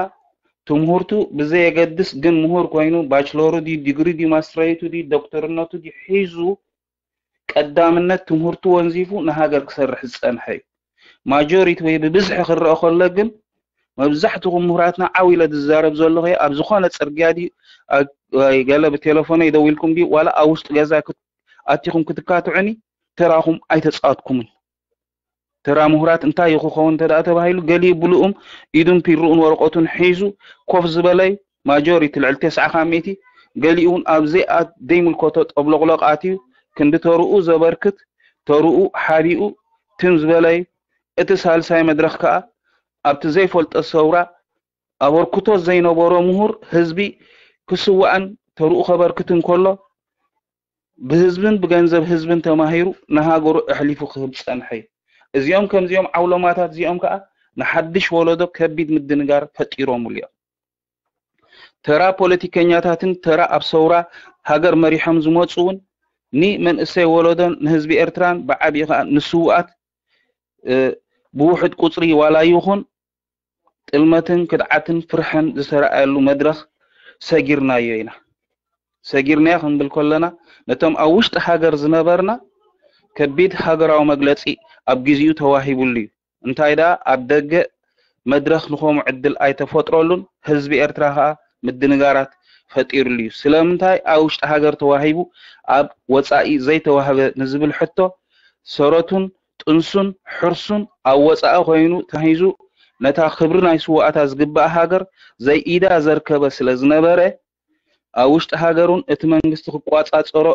ትምህርቱ ብዘየገድስ ግን ምሁር ኮይኑ ባችሎሩ ድዩ ዲግሪ ድዩ ማስትሬቱ ድዩ ዶክተርነቱ ድዩ ሒዙ ቀዳምነት ትምህርቱ ወንዚፉ ንሃገር ክሰርሕ ዝጸንሐ እዩ። ማጆሪቲ ወይ ብብዝሒ ክረአ ከሎ ግን መብዛሕትኹም ምሁራትና ዓው ኢለ ዝዛረብ ዘለኹ ኣብ ዝኾነ ጽርግያ ድዩ ኣብ- ወይ ገለ ብቴሌፎነይ ደዊልኩም ድዩ ዋላ ኣብ ውሽጢ ገዛ ክት- ኣቲኹም ክትካትዑኒ ተራኹም ኣይተጻወትኩምን። ተራ ምሁራት እንታይ እዩ ክኸውን እንተ ደኣ ተባሂሉ ገሊኡ ብልኡም ኢዱን ፒርኡን ወረቐቱን ሒዙ ኮፍ ዝበለ እዩ። ማጆሪቲ ልዕሊ ተስዓ ካብ ሚእቲ ገሊኡ እውን ኣብ ዘይኣ ዘይምልከቶ ጠብሎቕሎቕ ኣትዩ ክንዲ ተርኡ ዘበርክት ተርኡ ሓቢኡ ትም ዝበለ እዩ። እቲ ሳልሳይ መድረኽ ከኣ ኣብቲ ዘይፈልጦ ሰውራ ኣበርክቶ ዘይነበሮ ምሁር ህዝቢ ክስዋእን ተርኡ ከበርክት እንከሎ ብህዝብን ብገንዘብ ህዝብን ተማሂሩ ንሃገሩ ኣሕሊፉ ክህብ ዝጸንሐ እዩ። እዚኦም ከምዚኦም ዓውሎማታት እዚኦም ከኣ ንሓድሽ ወለዶ ከቢድ ምድንጋር ፈጢሮምሉ እዮም። ተራ ፖለቲከኛታትን ተራ ኣብ ሰውራ ሃገር መሪሖም ዝመጹ እውን ንመንእሰይ ወለዶን ንህዝቢ ኤርትራን ብዓብዪ ከኣ ንስውኣት እ፣ ብውሑድ ቁጽሪ ዋላ ይኹን ጥልመትን ክድዓትን ፍርሕን ዝተረኣየሉ መድረኽ ሰጊርናዮ ኢና። ሰጊርናዮ ክንብል ከለና ነቶም ኣብ ውሽጢ ሃገር ዝነበርና ከቢድ ሃገራዊ መግለጺ ኣብ ግዜኡ ተዋሂቡሉ እዩ። እንታይ ደኣ ኣብ ደገ መድረኽ ንኸምኡ ዕድል ኣይተፈጥረሉን፣ ህዝቢ ኤርትራ ከኣ ምድንጋራት ፈጢሩሉ እዩ። ስለምንታይ ኣብ ውሽጢ ሃገር ተዋሂቡ ኣብ ወጻኢ ዘይተዋህበ ንዝብል ሕቶ ሰረቱን ጥንሱን ሕርሱን ኣብ ወጻኢ ኮይኑ ተታሒዙ ነታ ክብሪ ናይ ስውኣታ ዝግባኣ ሃገር ዘይኢዳ ዘርከበ ስለ ዝነበረ ኣብ ውሽጢ ሃገሩን እቲ መንግስቲ ክቋጻጸሮ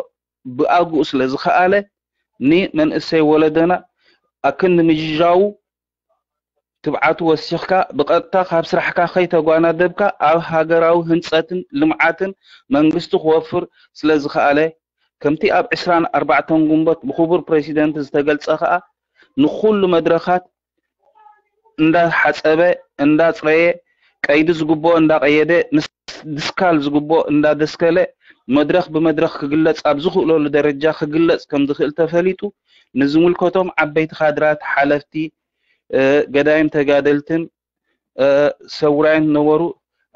ብኣግኡ ስለ ዝኸኣለ ንመንእሰይ ወለደና ኣክንዲ ምጅጃዉ ትብዓቱ ወሲኽካ ብቐጥታ ካብ ስራሕካ ከይተጓናደብካ ኣብ ሃገራዊ ህንፀትን ልምዓትን መንግስቲ ክወፍር ስለዝኸኣለ፣ ከምቲ ኣብ ዕስራን ኣርባዕተን ግንቦት ብክቡር ፕሬሲደንት ዝተገልፀ ከኣ ንኹሉ መድረኻት እንዳሓፀበ እንዳፅረየ፣ ቀይዲ ዝግብኦ እንዳቐየደ፣ ምስ ድስካል ዝግብኦ እንዳደስከለ፣ መድረኽ ብመድረኽ ክግለፅ ኣብ ዝኽእለሉ ደረጃ ክግለፅ ከም ዝኽእል ተፈሊጡ፣ ንዝምልከቶም ዓበይቲ ካድራት፣ ሓለፍቲ፣ ገዳይም ተጋደልትን ሰውራይን ዝነበሩ፣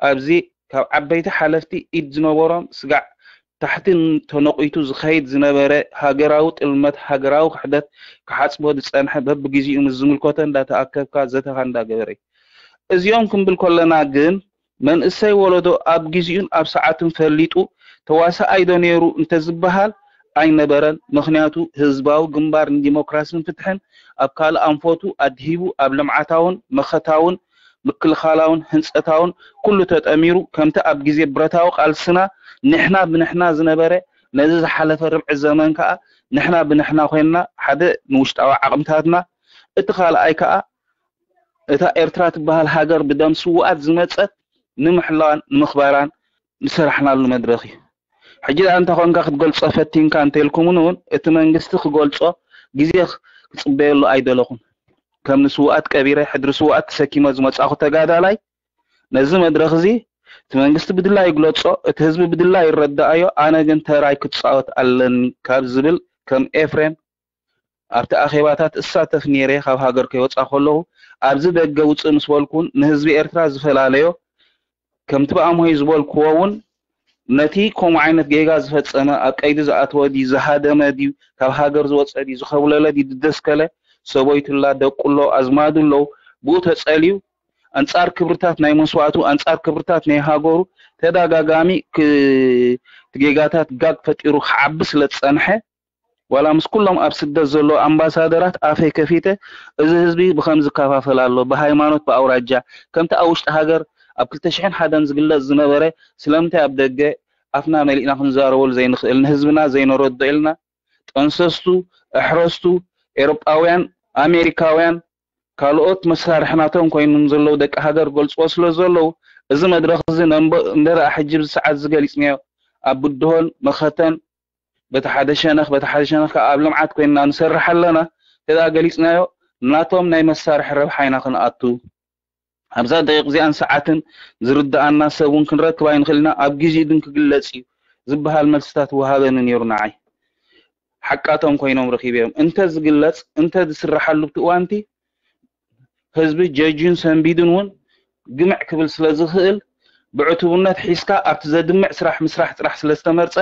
ኣብዚ ካብ ዓበይቲ ሓለፍቲ ኢድ ዝነበሮም ስጋዕ ታሕቲ ተነቒቱ ዝኸይድ ዝነበረ ሃገራዊ ጥልመት፣ ሃገራዊ ክሕደት ክሓጽቦ ዝጸንሐ፣ በብግዜኡ ምስ ዝምልከቶ እንዳተኣከብካ ዘተኻ እንዳገበረ እዩ። እዚኦም ክንብል ከለና ግን መንእሰይ ወለዶ ኣብ ግዜኡን ኣብ ሰዓቱን ፈሊጡ ተዋሳኣይ ዶ ነይሩ እንተዝበሃል ኣይነበረን። ምኽንያቱ ህዝባዊ ግንባር ንዲሞክራስን ፍትሕን ኣብ ካልእ ኣንፈቱ ኣድሂቡ ኣብ ልምዓታውን መኸታውን ምክልኻላውን ህንፀታውን ኩሉ ተጠሚሩ ከምቲ ኣብ ግዜ ብረታዊ ቃልስና ንሕና ብንሕና ዝነበረ ነዚ ዝሓለፈ ርብዒ ዘመን ከዓ ንሕና ብንሕና ኮይንና ሓደ ንውሽጣዊ ዓቕምታትና እቲ ካልኣይ ከዓ እታ ኤርትራ ትበሃል ሃገር ብደም ስውኣት ዝመጸት ንምሕላዋን ንምኽባራን ዝሰራሕናሉ መድረኽ እዩ። ሕጂ ደኣ እንተ ኾንካ ክትገልጾ ፈቲንካ እንተልኩምን እውን እቲ መንግስቲ ክገልጾ ግዜ ክጽበየሉ ኣይደለኹን። ከም ንስውኣት ቀቢረ ሕድሪ ስውኣት ተሰኪመ ዝመጻኹ ተጋዳላይ ነዚ መድረኽ እዚ እቲ መንግስቲ ብድላ ይግለጾ፣ እቲ ህዝቢ ብድላ ይረዳኣዮ፣ ኣነ ግን ተራይ ክጻወት ኣለኒ ካብ ዝብል ከም ኤፍሬም ኣብቲ ኣኼባታት እሳተፍ ነይረ ካብ ሃገር ከይወፃ ከለኹ ኣብዚ ደገ ውፅእ ምስ በልኩን ንህዝቢ ኤርትራ ዝፈላለዮ ከምቲ ብኣምሆይ ዝበልክዎ እውን ነቲ ከምኡ ዓይነት ጌጋ ዝፈፀመ ኣብ ቀይዲ ዝኣተወ ድዩ ዝሃደመ ድዩ ካብ ሃገር ዝወፀ ድዩ ዝኸብለለ ድዩ ዝደስከለ ሰበይቱ ኣላ ደቁ ኣሎ ኣዝማዱ ኣለዉ ብኡ ተፀልዩ ኣንፃር ክብርታት ናይ መስዋእቱ ኣንፃር ክብርታት ናይ ሃገሩ ተደጋጋሚ ጌጋታት ጋግ ፈጢሩ ክዓቢ ስለ ዝፀንሐ ዋላ ምስ ኩሎም ኣብ ስደት ዘለዉ ኣምባሳደራት ኣፈይ ከፊተ እዚ ህዝቢ ብኸምዚ ይከፋፈል ኣሎ ብሃይማኖት ብኣውራጃ ከምቲ ኣብ ውሽጢ ሃገር ኣብ ክልተ ሽሕን ሓደን ዝግለፅ ዝነበረ ስለምንታይ ኣብ ደገ ኣፍና መሊእና ክንዛረበሉ ዘይንኽእል ንህዝብና ዘይነረድኦ ኢልና ጠንሰስቱ ኣሕረስቱ ኤሮጳውያን ኣሜሪካውያን ካልኦት መሳርሒ ናቶም ኮይኖም ዘለዉ ደቂ ሃገር ገልፅዎ ስለ ዘለዉ እዚ መድረኽ እዚ ነንበ እንደ ደኣ ሕጂ ብዚ ሰዓት እዚ ገሊፅናዮ ኣብ ብድሆን መኸተን በቲ ሓደ ሸነኽ በቲ ሓደ ሸነኽ ከዓ ኣብ ልምዓት ኮይንና ንሰርሕ ኣለና እንተ ደኣ ገሊፅናዮ ናቶም ናይ መሳርሒ ረብሓ ኢና ክንኣቱ ኣብዛ ደቂቕ እዚኣን ሰዓትን ዝርድኣና ሰብ እውን ክንረክብ ኣይንኽእልና ኣብ ግዜኡ ግን ክግለፅ እዩ ዝበሃል መልስታት ወሃበኒ ነይሩ ንዓይ ሓቃቶም ኮይኖም ረኺበዮም እንተ ዝግለፅ እንተ ዝስርሓሉ ብቲ እዋንቲ ህዝቢ ጀጅዩን ሰንቢዱን እውን ግምዕ ክብል ስለ ዝኽእል ብዕቱብነት ሒዝካ ኣብቲ ዘድምዕ ስራሕ ምስራሕ ጥራሕ ስለ ዝተመርፀ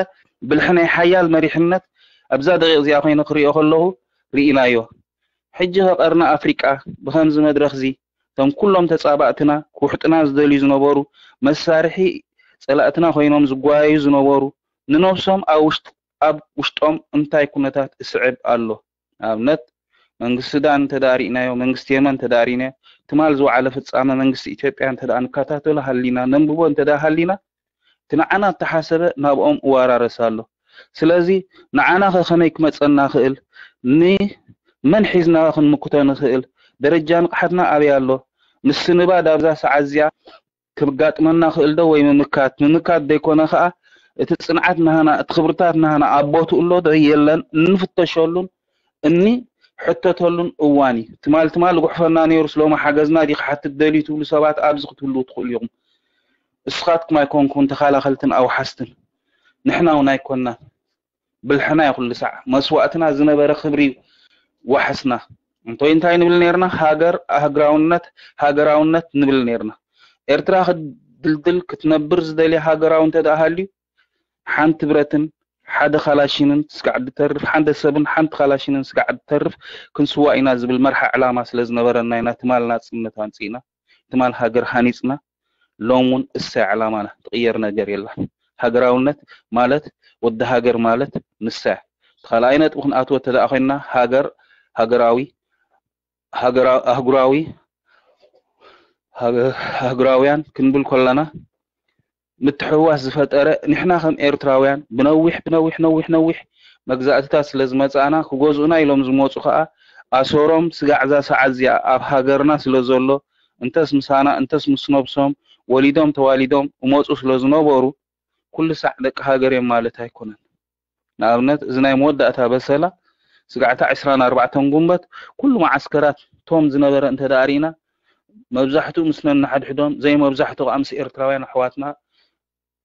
ብልሒ ናይ ሓያል መሪሕነት ኣብዛ ደቂቕ እዚኣ ኮይነ ክሪኦ ከለኹ ርኢናዮ። ሕጂ ኸ ቀርኒ ኣፍሪቃ ብኸምዚ መድረኽዚ እቶም ኩሎም ተፃባእትና ክውሕጡና ዝደልዩ ዝነበሩ መሳርሒ ፀላእትና ኮይኖም ዝጓየዩ ዝነበሩ ንነብሶም ኣብ ውሽጦም እንታይ ኩነታት እስዕብ ኣሎ? ንኣብነት መንግስቲ ሱዳን እንተደኣ ሪእናዮ፣ መንግስቲ የመን እንተደኣ ሪእናዮ፣ ትማል ዝወዓለ ፍጻመ መንግስቲ ኢትዮጵያ እንተደኣ ንከታተሎ ሃሊና፣ ነንብቦ እንተደኣ ሃሊና፣ እቲ ንዓና እተሓሰበ ናብኦም እዋራረስ ኣሎ። ስለዚ ንዓና ኸ ከመይ ክመጸና ክእል? ንመን ሒዝና ክንምክቶ ንኽእል? ደረጃ ንቕሓትና ኣበይ ኣሎ? ምስንባድ ኣብዛ ሰዓት እዚኣ ክጋጥመና ክእል ዶ ወይ ምምካት? ምምካት ዘይኮነ ከኣ እቲ ጽንዓት ናህና፣ እቲ ክብርታት ናህና ኣብ ቦትኡ ኣሎ ዶ የለን? እንፍተሸሉን እንሕተተሉን እዋን እዩ። ትማል ትማል ዝጉሕፈና ነይሩስ ሎሚ ሓገዝና ድዩ ክሓትት ደልዩ ትብሉ ሰባት ኣብዚ ክትህልዉ ትኽእሉ ኢኹም። እስኻትኩም ኣይኮንኩን ተኻላኸልትን ኣውሓስትን። ንሕና እውን ኣይኮንናን። ብልሕና እዩ ኩሉ ሳዕ። መስዋእትና ዝነበረ ክብሪ እዩ ዋሕስና። እንቶይ እንታይ ንብል ነይርና? ሃገር ኣህግራውነት ሃገራውነት ንብል ነይርና። ኤርትራ ክትድልድል ክትነብር ዝደልያ ሃገራዊ እንተ ደኣ ሃልዩ ሓንቲ ብረትን ሓደ ካላሽንን ስጋዕ ድተርፍ፣ ሓደ ሰብን ሓንቲ ካላሽንን ስጋዕ ድተርፍ ክንስዋእ ኢና ዝብል መርሓ ዕላማ ስለ ዝነበረና ኢና ትማል ናጽነት ኣምጺእና፣ ትማል ሃገር ሃኒጽና፣ ሎም እውን እሳ እያ ዕላማና፣ ትቕየር ነገር የላን። ሃገራውነት ማለት ወዲ ሃገር ማለት ንሳ እያ። እቲ ካልኣይ ነጥቢ ክንኣትዎ እንተ ደኣ ኮይንና ሃገር ሃገራዊ ሃገራ ኣህጉራዊ ኣህጉራውያን ክንብል ከለና ምትሕውዋስ ዝፈጠረ ንሕና ከም ኤርትራውያን ብነዊሕ ብነዊሕ ነዊሕ ነዊሕ መግዛእትታት ስለ ዝመጻእና ክገዝኡና ኢሎም ዝመጹ ከኣ ኣሰሮም ስጋዕ እዛ ሰዓት እዚኣ ኣብ ሃገርና ስለ ዘሎ፣ እንተስ ምሳና እንተስ ምስ ነብሶም ወሊዶም ተዋሊዶም እመፁ ስለ ዝነበሩ፣ ኩሉ ሳዕ ደቂ ሃገር እዮም ማለት ኣይኮነን። ንኣብነት፣ እዚ ናይ መወዳእታ በሰላ ስጋዕታ ዕስራን ኣርባዕተን ጉንበት ኩሉ መዓስከራት ቶም ዝነበረ እንተ ደኣ ርኢና፣ መብዛሕትኡ ምስ ነንሓድሕዶም፣ ዘይመብዛሕትኡ ከኣ ምስ ኤርትራውያን ኣሕዋትና፣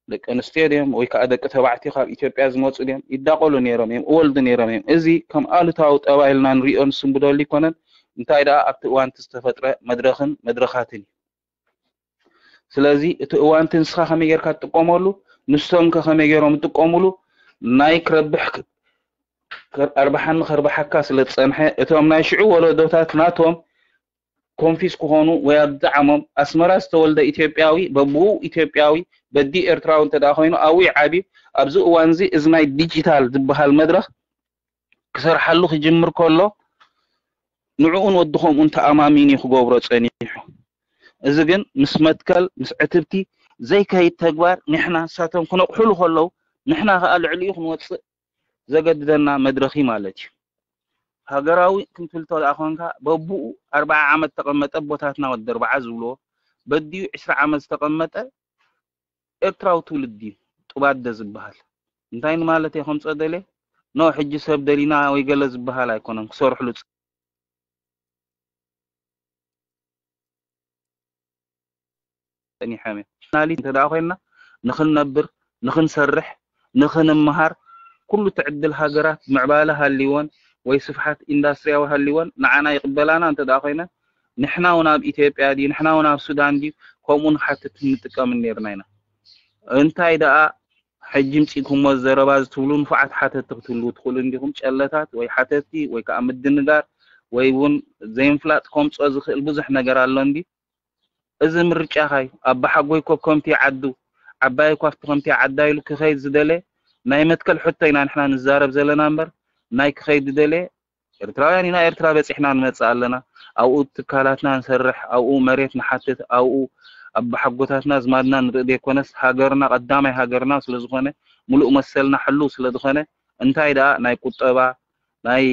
ደቂ ኣንስትዮ ድዮም ወይ ከኣ ደቂ ተባዕትዮ ካብ ኢትዮጵያ ዝመጹ ድዮም፣ ይዳቐሉ ነይሮም እዮም፣ እወልዱ ነይሮም እዮም። እዚ ከም ኣሉታዊ ጠባይ ኢልና ንሪኦ ንስንብደሉ ኣይኮነን። እንታይ ደኣ ኣብቲ እዋንቲ ዝተፈጥረ መድረኽን መድረኻትን እዩ። ስለዚ እቲ እዋንቲ ንስኻ ከመይ ጌርካ ትጥቀመሉ፣ ንሶም ከ ከመይ ጌሮም ይጥቀምሉ፣ ናይ ክረብሕ ኣርባሓኒ ከርባሓካ ስለ ዝጸንሐ፣ እቶም ናይ ሽዑ ወለዶታት ናቶም ኮንፊስ ክኾኑ ወይ ኣብዝዓሞም ኣስመራ ዝተወልደ ኢትዮጵያዊ በብኡ ኢትዮጵያዊ በዲ ኤርትራዊ እንተ ደኣ ኮይኑ ኣብኡ ይዓብዩ። ኣብዚ እዋን እዚ እዚ ናይ ዲጂታል ዝበሃል መድረኽ ክሰርሓሉ ክጅምር ከሎ ንዕኡን ወዲ ከምኡን ተኣማሚኑ እዩ ክገብሮ ጸኒሑ። እዚ ግን ምስ መትከል ምስ ዕትብቲ ዘይከይድ ተግባር ንሕና ንሳቶም ክነቕሑሉ ከለዉ ንሕና ከኣ ልዕሊኡ ክንወጽእ ዘገድደና መድረኽ እዩ ማለት እዩ። ሃገራዊ ክንትልቶ ደኣ ኮንካ በብኡ ኣርብዓ ዓመት ተቐመጠ ኣቦታትና ወዲ ኣርብዓ ዝብልዎ በዲኡ ዕስራ ዓመት ዝተቐመጠ ኤርትራዊ ትውልዲ እዩ ጡባደ ዝበሃል። እንታይ ንማለት እየ ከምፅኦ ደልየ? ኖ ሕጂ ሰብ ደሊና ወይ ገለ ዝበሃል ኣይኮነን ክሰርሕሉ ጸኒሖም እዮም። ናሊት እንተ ደኣ ኮይንና ንኽንነብር፣ ንኽንሰርሕ፣ ንኽንምሃር ኩሉ ትዕድል ሃገራት ምዕባለ ሃልይወን ወይ ስፍሓት ኢንዳስትሪያዊ ሃልይወን ንዓና ይቕበላና እንተ ደኣ ኮይነን ንሕና እውን ኣብ ኢትዮጵያ ድዩ ንሕና እውን ኣብ ሱዳን ድዩ ከምኡ ንሓትት ንጥቀምን ነይርና ኢና። እንታይ ደኣ ሕጂ ምጺእኩሞ ዘረባ እዚ ትብሉ ንፉዓት ሓተቲ ክትህልዉ ትኽእሉ እንዲኹም፣ ጨለታት ወይ ሓተቲ ወይ ከኣ ምድንጋር ወይ እውን ዘይምፍላጥ ከምጽኦ ዝኽእል ብዙሕ ነገር ኣሎ እንዲ። እዚ ምርጫኻ እዩ። ኣባሓጎይ ኮ ከምቲ ዓዱ፣ ዓባይ እኳ ኣብቲ ከምቲ ዓዳ ኢሉ ክኸይድ ዝደለ ናይ መትከል ሕቶ ኢና ንሕና ንዛረብ ዘለና እምበር ናይ ክኸይድ ዝደለ ኤርትራውያን ኢና፣ ኤርትራ በጺሕና ንመጽእ ኣለና። ኣብኡ ትካላትና ንሰርሕ፣ ኣብኡ መሬት ንሓትት፣ ኣብኡ ኣባሓጎታትና ኣዝማድና ንርኢ ዘይኮነስ ሃገርና ቀዳማይ ሃገርና ስለ ዝኾነ ምሉእ መሰልና ሕሉው ስለ ዝኾነ እንታይ ደኣ ናይ ቁጠባ ናይ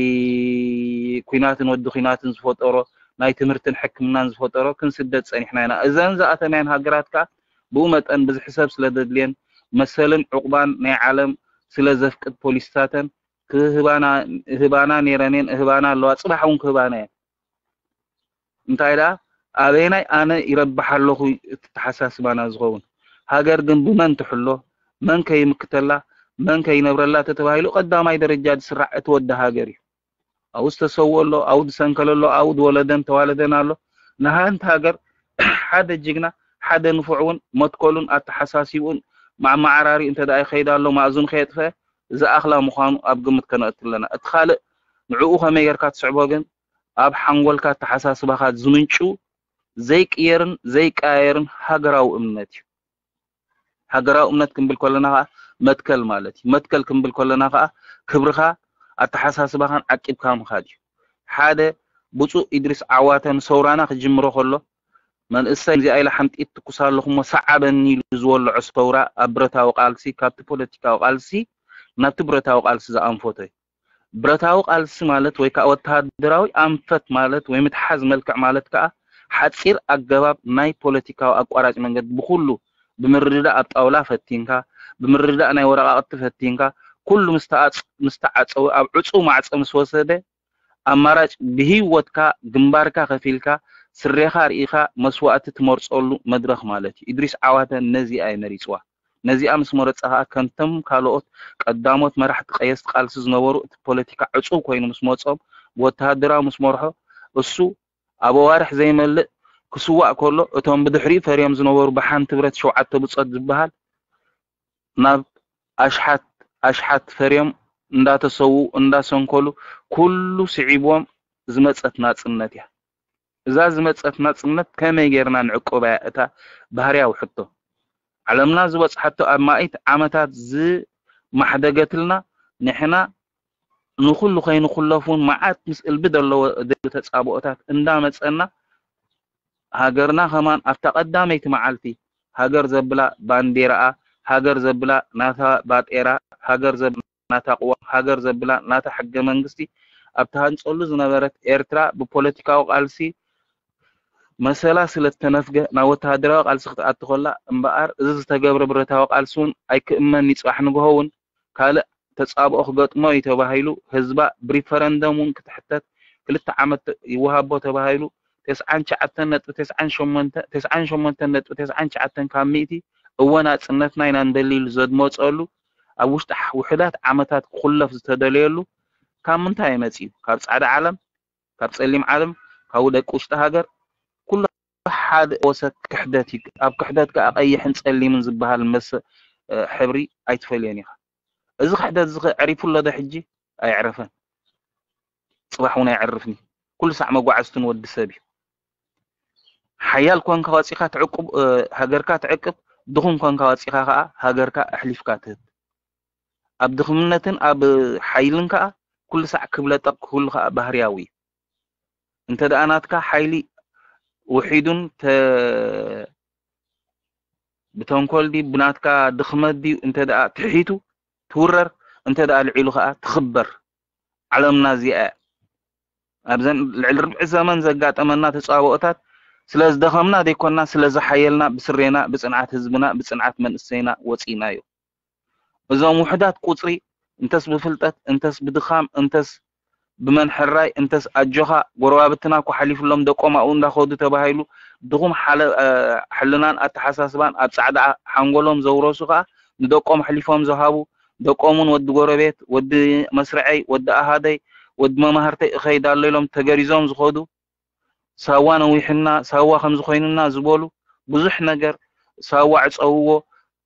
ኲናትን ወዲ ኲናትን ዝፈጠሮ ናይ ትምህርትን ሕክምናን ዝፈጠሮ ክንስደድ ጸኒሕና ኢና። እዘን ዝኣተናየን ሃገራት ከኣ ብኡ መጠን ብዝሒ ሰብ ስለ ዘድልየን መሰልን ዕቑባን ናይ ዓለም ስለ ዘፍቅድ ፖሊስታተን ክህባና ህባና ነይረን እየን እህባና ኣለዋ ጽባሕ እውን ክህባና እየን እንታይ ደኣ ኣበየናይ ኣነ ይረብሕ ኣለኹ እቲ ተሓሳስባና ዝኸውን ሃገር ግን ብመን ትሕሎ መን ከይምክተላ መን ከይነብረላ ተተባሂሉ ቀዳማይ ደረጃ ዝስራዕ እቲ ወዲ ሃገር እዩ ኣብኡ ዝተሰውኦ ኣሎ ኣብኡ ዝሰንከለ ኣሎ ኣብኡ ዝወለደን ተዋለደን ኣሎ ንሃንቲ ሃገር ሓደ ጅግና ሓደ ንፉዕ እውን መትከሉን ኣተሓሳሲብኡን ማዓማዓራሪ እንተ ደኣ ይኸይድ ኣሎ ማእዙን ከየጥፈአ ዝኣኽላ ምዃኑ ኣብ ግምት ከነእቱ ኣለና። እቲ ካልእ ንዕኡ ከመይ ጌርካ ትስዕቦ ግን ኣብ ሓንጎልካ ኣተሓሳስባኻ ዝምንጩ ዘይቅየርን ዘይቀያየርን ሃገራዊ እምነት እዩ። ሃገራዊ እምነት ክንብል ከለና ከዓ መትከል ማለት እዩ። መትከል ክንብል ከለና ከዓ ክብርኻ ኣተሓሳስባኻን ዓቂብካ ምኻድ እዩ። ሓደ ብፁእ ኢድሪስ ዓዋተ ንሰውራና ክጅምሮ ከሎ መንእሰይ እዚኣ ኢለ ሓንጢት ትኩስ ኣለኹ እሞ ሰዓበኒ ኢሉ ዝወልዖ ሰውራ ኣብ ብረታዊ ቃልሲ ካብቲ ፖለቲካዊ ቃልሲ ናብቲ ብረታዊ ቃልሲ ዝኣንፈቶ እዩ። ብረታዊ ቃልሲ ማለት ወይ ከዓ ወተሃደራዊ ኣንፈት ማለት ወይ ምትሓዝ መልክዕ ማለት ከዓ ሓፂር ኣገባብ ናይ ፖለቲካዊ ኣቋራጭ መንገዲ ብኩሉ ብምርድዳእ ኣብ ጣውላ ፈቲንካ ብምርድዳእ ናይ ወረቃቅቲ ፈቲንካ ኩሉ ምስ ተዓፀወ ኣብ ዕፁው ማዕፀ ምስ ወሰደ ኣማራጭ ብህይወትካ ግንባርካ ከፊልካ ስሬኻ ርኢኻ መስዋእቲ ትመርፀሉ መድረኽ ማለት እዩ። ኢድሪስ ዓዋተ ነዚኣ እየ መሪፅዋ። ነዚኣ ምስ መረፀ ከዓ ከምቶም ካልኦት ቀዳሞት መራሕቲ ቀየስቲ ቃልሲ ዝነበሩ እቲ ፖለቲካ ዕፁው ኮይኑ ምስ መፆም ብወተሃደራዊ ምስ መርሖ እሱ ኣብ ኣዋርሕ ዘይመልእ ክስዋእ ከሎ እቶም ብድሕሪኡ ፈርዮም ዝነበሩ ብሓንቲ ብረት ሸውዓተ ብፆት ዝበሃል ናብ ኣሽሓት ኣሽሓት ፈርዮም እንዳተሰውኡ እንዳሰንከሉ ኩሉ ስዒብዎም ዝመፀት ናፅነት እያ። እዛ ዝመፀት ናፅነት ከመይ ጌርና ንዕቆባ እያ እታ ባህርያዊ ሕቶ። ዓለምና ዝበፅሓቶ ኣብ ማእት ዓመታት ዝማሕደገትልና ንሕና ንኹሉ ከይንኹለፍ እውን መዓት ምስ እልቢ ዘለዎ ድል ተፃብኦታት እንዳመፀና ሃገርና ከማን ኣብታ ቀዳመይቲ መዓልቲ ሃገር ዘብላ ባንዴራኣ፣ ሃገር ዘብላ ናታ ባጤራ፣ ሃገር ዘብላ ናታ ቅዋም፣ ሃገር ዘብላ ናታ ሕገ መንግስቲ ኣብ ትሃንጸሉ ዝነበረት ኤርትራ ብፖለቲካዊ ቃልሲ መሰላ ስለ ዝተነፍገ ናብ ወተሃደራዊ ቃልሲ ክትኣቱ ከላ እምበኣር፣ እዚ ዝተገብረ ብረታዊ ቃልሲ እውን ኣይክእመን እዩ። ጽባሕ ንግሆ እውን ካልእ ተጻብኦ ክገጥሞ እዩ ተባሂሉ፣ ህዝባ ብሪፈረንደም እውን ክትሕተት ክልተ ዓመት ይወሃቦ ተባሂሉ፣ ተስዓን ትሽዓተን ነጥቢ ተስዓን ሸሞንተ፣ ተስዓን ሸሞንተ ነጥቢ ተስዓን ትሽዓተን ካብ ሚእቲ እወ ናጽነትና ኢና ንደሊ ኢሉ ዘድመጸሉ፣ ኣብ ውሽጢ ውሑዳት ዓመታት ክኹለፍ ዝተደለየሉ ካብ ምንታይ መጺኡ? ካብ ጻዕዳ ዓለም፣ ካብ ጸሊም ዓለም፣ ካብ ደቂ ውሽጢ ሃገር፣ ኩሉ ሓደ ወሰክ ክሕደት እዩ። ኣብ ክሕደት ከኣ ቀይሕን ጸሊምን ዝበሃል መስ-፣ እ፣ ሕብሪ ኣይትፈልዮን ኢኻ። እዚ ክሕደት እዚ ከ ዕሪፉ ኣሎ ዶ ሕጂ? ኣየዕረፈን። ጽባሕ እውን ኣየዕርፍን እዩ። ኩሉ ሳዕ መጓዕዝትን ወዲ ሰብ እዩ። ሓያል ኮንካ ወጺኻ ትዕቁብ፣ እ፣ ሃገርካ ትዕቅብ፣ ድኹም ኮንካ ወጺኻ ከኣ ሃገርካ ኣሕሊፍካ ትህብ። ኣብ ድኽምነትን ኣብ ሓይልን ከኣ ኩሉ ሳዕ ክብለጠቅ ክህሉ ከኣ ባህርያዊ እዩ። እንተ ደኣ ናትካ ሓይሊ ውሒዱን ተ-፣ ብተንኮል ድዩ ብናትካ ድኽመት ድዩ እንተ ደኣ ትሒቱ ትውረር፣ እንተ ደኣ ልዒሉ ከኣ ትኽበር። ዓለምና እዚኣ እያ። ኣብዘን ልዕሊ ርብዒ ዘመን ዘጋጠመና ተጻብኦታት ስለ ዝደኸምና ዘይኮንና፣ ስለ ዝሓየልና ብስሬና፣ ብጽንዓት ህዝብና፣ ብጽንዓት መንእሰይና ወጺእናዮ። እዞም ውሑዳት ቁጽሪ እንተስ ብፍልጠት፣ እንተስ ብድኻም፣ እንተስ ብመን ሕራይ፣ እንተስ ኣጆኻ፣ ጎረባብትና እኮ ሓሊፉሎም ደቆም ኣብኡ እንዳኸዱ ተባሂሉ ድኹም ሓለ-፣ እ፣ ሕልናን ኣተሓሳስባን ኣብ ጻዕዳ ሓንጎሎም ዘውረሱ ከኣ ንደቆም ኣሕሊፎም ዝሃቡ፣ ደቆምን ወዲ ጎረቤት፣ ወዲ መስርዐይ፣ ወዲ ኣሃደይ፣ ወዲ መማህርተይ እኸይድ ኣሎ ኢሎም ተገሪዞም ዝኸዱ፣ ሳዋ ነዊሕና፣ ሳዋ ከምዚ ኮይኑና ዝበሉ ብዙሕ ነገር፣ ሳዋ ዕጸውዎ፣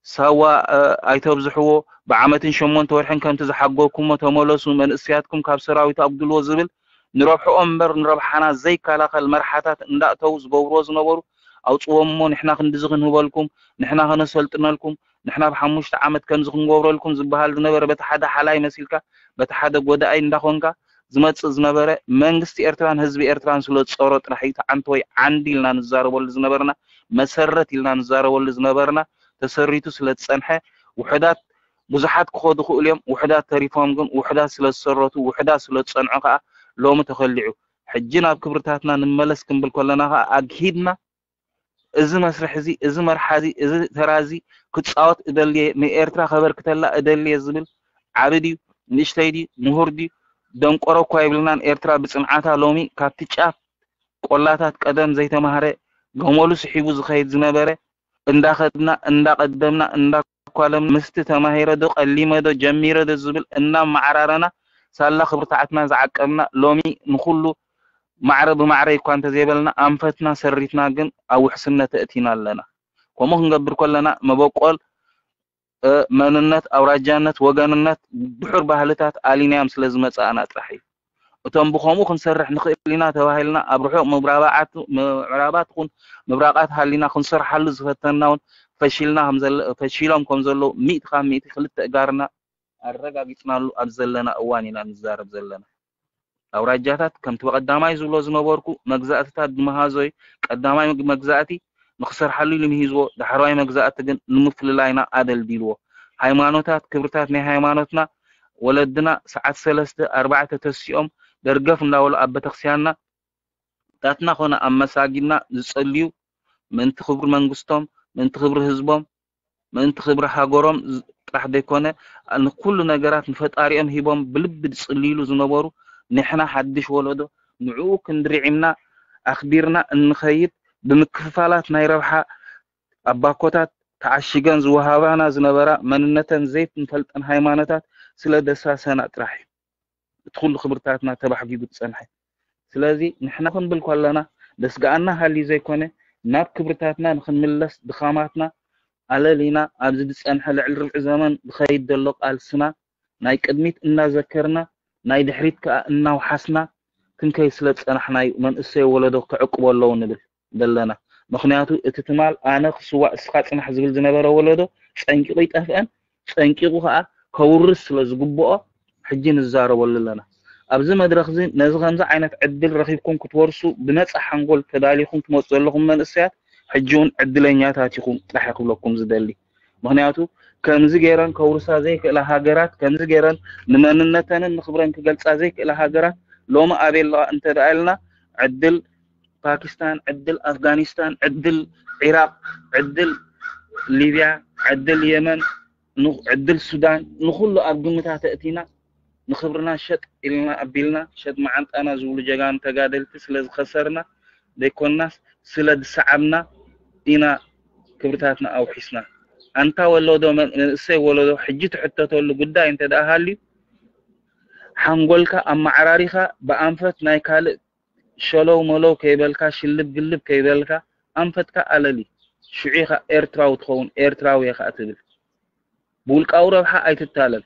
ሳዋ፣ እ፣ ኣይተብዝሕዎ፣ ብዓመትን ሸሞንተ ወርሕን ከምቲ ዝሓገኩሞ ተመለሱ፣ መንእሰያትኩም ካብ ሰራዊት ኣጉድልዎ ዝብል ንረብሕኦም እምበር ንረብሓና ዘይከላኸል መርሓታት እንዳእተዉ ዝገብርዎ ዝነበሩ፣ ኣውጽዎም እሞ ንሕና ክንድዚ ክንህበልኩም፣ ንሕና ከነሰልጥነልኩም፣ ንሕና ብሓሙሽተ ዓመት ከምዚ ክንገብረልኩም ዝበሃል ዝነበረ በቲ ሓደ ሓላይ መሲልካ፣ በቲ ሓደ ጎዳኣይ እንዳኾንካ ዝመጽእ ዝነበረ መንግስቲ ኤርትራን ህዝቢ ኤርትራን ስለ ዝጸሮ ጥራሕ እዩ። እቲ ዓንተወይ ዓንዲ ኢልና ንዛረበሉ ዝነበርና፣ መሰረት ኢልና ንዛረበሉ ዝነበርና ተሰሪቱ ስለ ዝጸንሐ፣ ውሑዳት ብዙሓት ክኸዱ ክእሉ እዮም። ውሑዳት ተሪፎም ግን፣ ውሑዳት ስለ ዝሰረቱ፣ ውሑዳት ስለ ዝጸንዑ ከኣ ሎሚ ተኸሊዑ። ሕጂ ናብ ክብርታትና ንመለስ ክንብል ከለና ከኣ ኣግሂድና እዚ መስርሕ እዚ፣ እዚ መርሓ እዚ፣ እዚ ተራ እዚ ክጻወት እደሊ እየ፣ ንኤርትራ ከበርክተላ እደሊ እየ ዝብል ዓቢ ድዩ፣ ንእሽተይ ድዩ፣ ምሁር ድዩ፣ ደንቆሮ እኳ ኣይብልናን። ኤርትራ ብጽንዓታ ሎሚ ካብቲ ጫፍ ቆላታት ቀደም ዘይተማህረ ገመሉ ስሒቡ ዝኸይድ ዝነበረ እንዳኸድና፣ እንዳቐደምና፣ እንዳኳለምና፣ ምስቲ ተማሂረ ዶ፣ ቀሊመ ዶ፣ ጀሚረ ዶ ዝብል እናመዓራረና፣ ሳላ ክብርታትና ዝዓቀብና፣ ሎሚ ንኹሉ ማዕረ ብማዕረ እኳ እንተዘይበልና፣ ኣንፈትና ሰሪትና ግን ኣብ ውሕስነት ኣእቲና ኣለና። ከምኡ ክንገብር ከለና፣ መበቆል፣ እ፣ መንነት፣ ኣውራጃነት፣ ወገንነት፣ ድሑር ባህልታት ኣሊናዮም ስለ ዝመጻእና ጥራሕ እዩ። እቶም ብኸምኡ ክንሰርሕ ንኽእል ኢና ተባሂልና ኣብ ርሑቕ ምብራባዓት-፣ ምዕራባት ኹን ምብራቓት ሃሊና ክንሰርሓሉ ዝፈተንና እውን ፈሺልና ከም ዘለ-፣ ፈሺሎም ከም ዘለዉ ሚእቲ ካብ ሚእቲ ክልተ እጋርና ኣረጋጊጽናሉ ኣብ ዘለና እዋን ኢና ንዛረብ ዘለና። ኣውራጃታት ከምቲ ብቐዳማይ ዝብሎ ዝነበርኩ መግዛእትታት ዝመሃዞ እዩ። ቀዳማይ መግ-፣ መግዛእቲ ንኽሰርሓሉ ኢሉ ምሂዝዎ፣ ዳሕረዋይ መግዛእቲ ግን ንምፍልላይና ኣደልዲልዎ። ሃይማኖታት፣ ክብርታት ናይ ሃይማኖትና ወለድና ሰዓት ሰለስተ፣ ኣርባዕተ ተሲኦም ደርገፍ እንዳበሉ ኣብ ቤተክርስትያንና ታትና ኮነ ኣብ መሳጊድና ዝጸልዩ ምእንቲ ክብሪ መንግስቶም፣ ምእንቲ ክብሪ ህዝቦም፣ ምእንቲ ክብሪ ሃገሮም ዝ-፣ ጥራሕ ዘይኮነ፣ ንኩሉ ነገራት ንፈጣሪኦም ሂቦም ብልቢ ዝጽልይሉ ዝነበሩ፣ ንሕና ሓድሽ ወለዶ ንዕኡ ክንድርዒምና ኣኽቢርና እንኸይድ፣ ብምክፍፋላት ናይ ረብሓ ኣብ ባኮታት ተዓሺገን ዝወሃባና ዝነበራ መንነተን ዘይንፈልጠን ሃይማኖታት ስለ ደሳሰና ጥራሕ እዩ። እቲ ኩሉ ክብርታትና ተባሕጊጉ ዝጸንሐ። ስለዚ ንሕና ክንብል ከለና ደስግኣና ሃልዩ ዘይኮነ፣ ናብ ክብርታትና ንኽንምለስ ድኻማትና ኣለሊና ኣብዚ ዝጸንሐ ልዕሊ ርብዒ ዘመን ዝኸይድ ዘሎ ቃልስና ናይ ቅድሚት እናዘከርና ናይ ድሕሪት ከኣ እናውሓስና ክንከይድ ስለ ዝጸናሕና እዩ መንእሰይ ወለዶ ክዕቅቦ ኣለዎ ንብል ዘለና። ምኽንያቱ እቲ ትማል ኣነ ክስዋእ እስኻ ጽናሕ ዝብል ዝነበረ ወለዶ ጸንቂቑ ይጠፍአን ጸንቂቑ ከኣ ከውርስ ስለ ዝግብኦ ሕጂ ንዛረበሉ ኣለና። ኣብዚ መድረኽ እዚ ነዚ ከምዚ ዓይነት ዕድል ረኺብኩም ክትወርሱ ብነጻ ሓንጎል ተዳሊኹም ትመጹ ዘለኹም መንእሰያት ሕጂ እውን ዕድለኛታት ኢኹም ጥራሕ እየ ክብለኩም ዝደሊ። ምኽንያቱ ከምዚ ገይረን ከውርሳ ዘይክእላ ሃገራት፣ ከምዚ ገይረን ንመንነተንን ንኽብረን ክገልጻ ዘይክእላ ሃገራት ሎሚ ኣበይ ኣለዋ እንተ ደኣ ኢልና፣ ዕድል ፓኪስታን፣ ዕድል ኣፍጋኒስታን፣ ዕድል ዒራቕ፣ ዕድል ሊብያ፣ ዕድል የመን፣ ን- ዕድል ሱዳን፣ ንኹሉ ኣብ ግምታት ኣእቲና፣ ንኽብርና ሸጥ ኢልና ኣቢልና፣ ሸጥ መዓንጣና ዝብሉ ጀጋኑ ተጋደልቲ ስለ ዝኸሰርና ዘይኮንናስ፣ ስለ ዝሰዓብና ኢና ክብርታትና ኣውሒስና። ኣንታ ወለዶ፣ መንእሰይ ወለዶ፣ ሕጂ ትሕተተሉ ጉዳይ እንተ ደኣ ሃልዩ፣ ሓንጎልካ ኣመዓራሪኻ ብኣንፈት ናይ ካልእ ሸለው መለው ከይበልካ፣ ሽልብ ግልብ ከይበልካ፣ ኣንፈትካ ኣለሊ። ሽዑ ኢኻ ኤርትራዊ ትኸውን፣ ኤርትራዊ እየ ኸኣ ትብል። ብውልቃዊ ረብሓ ኣይትታለል።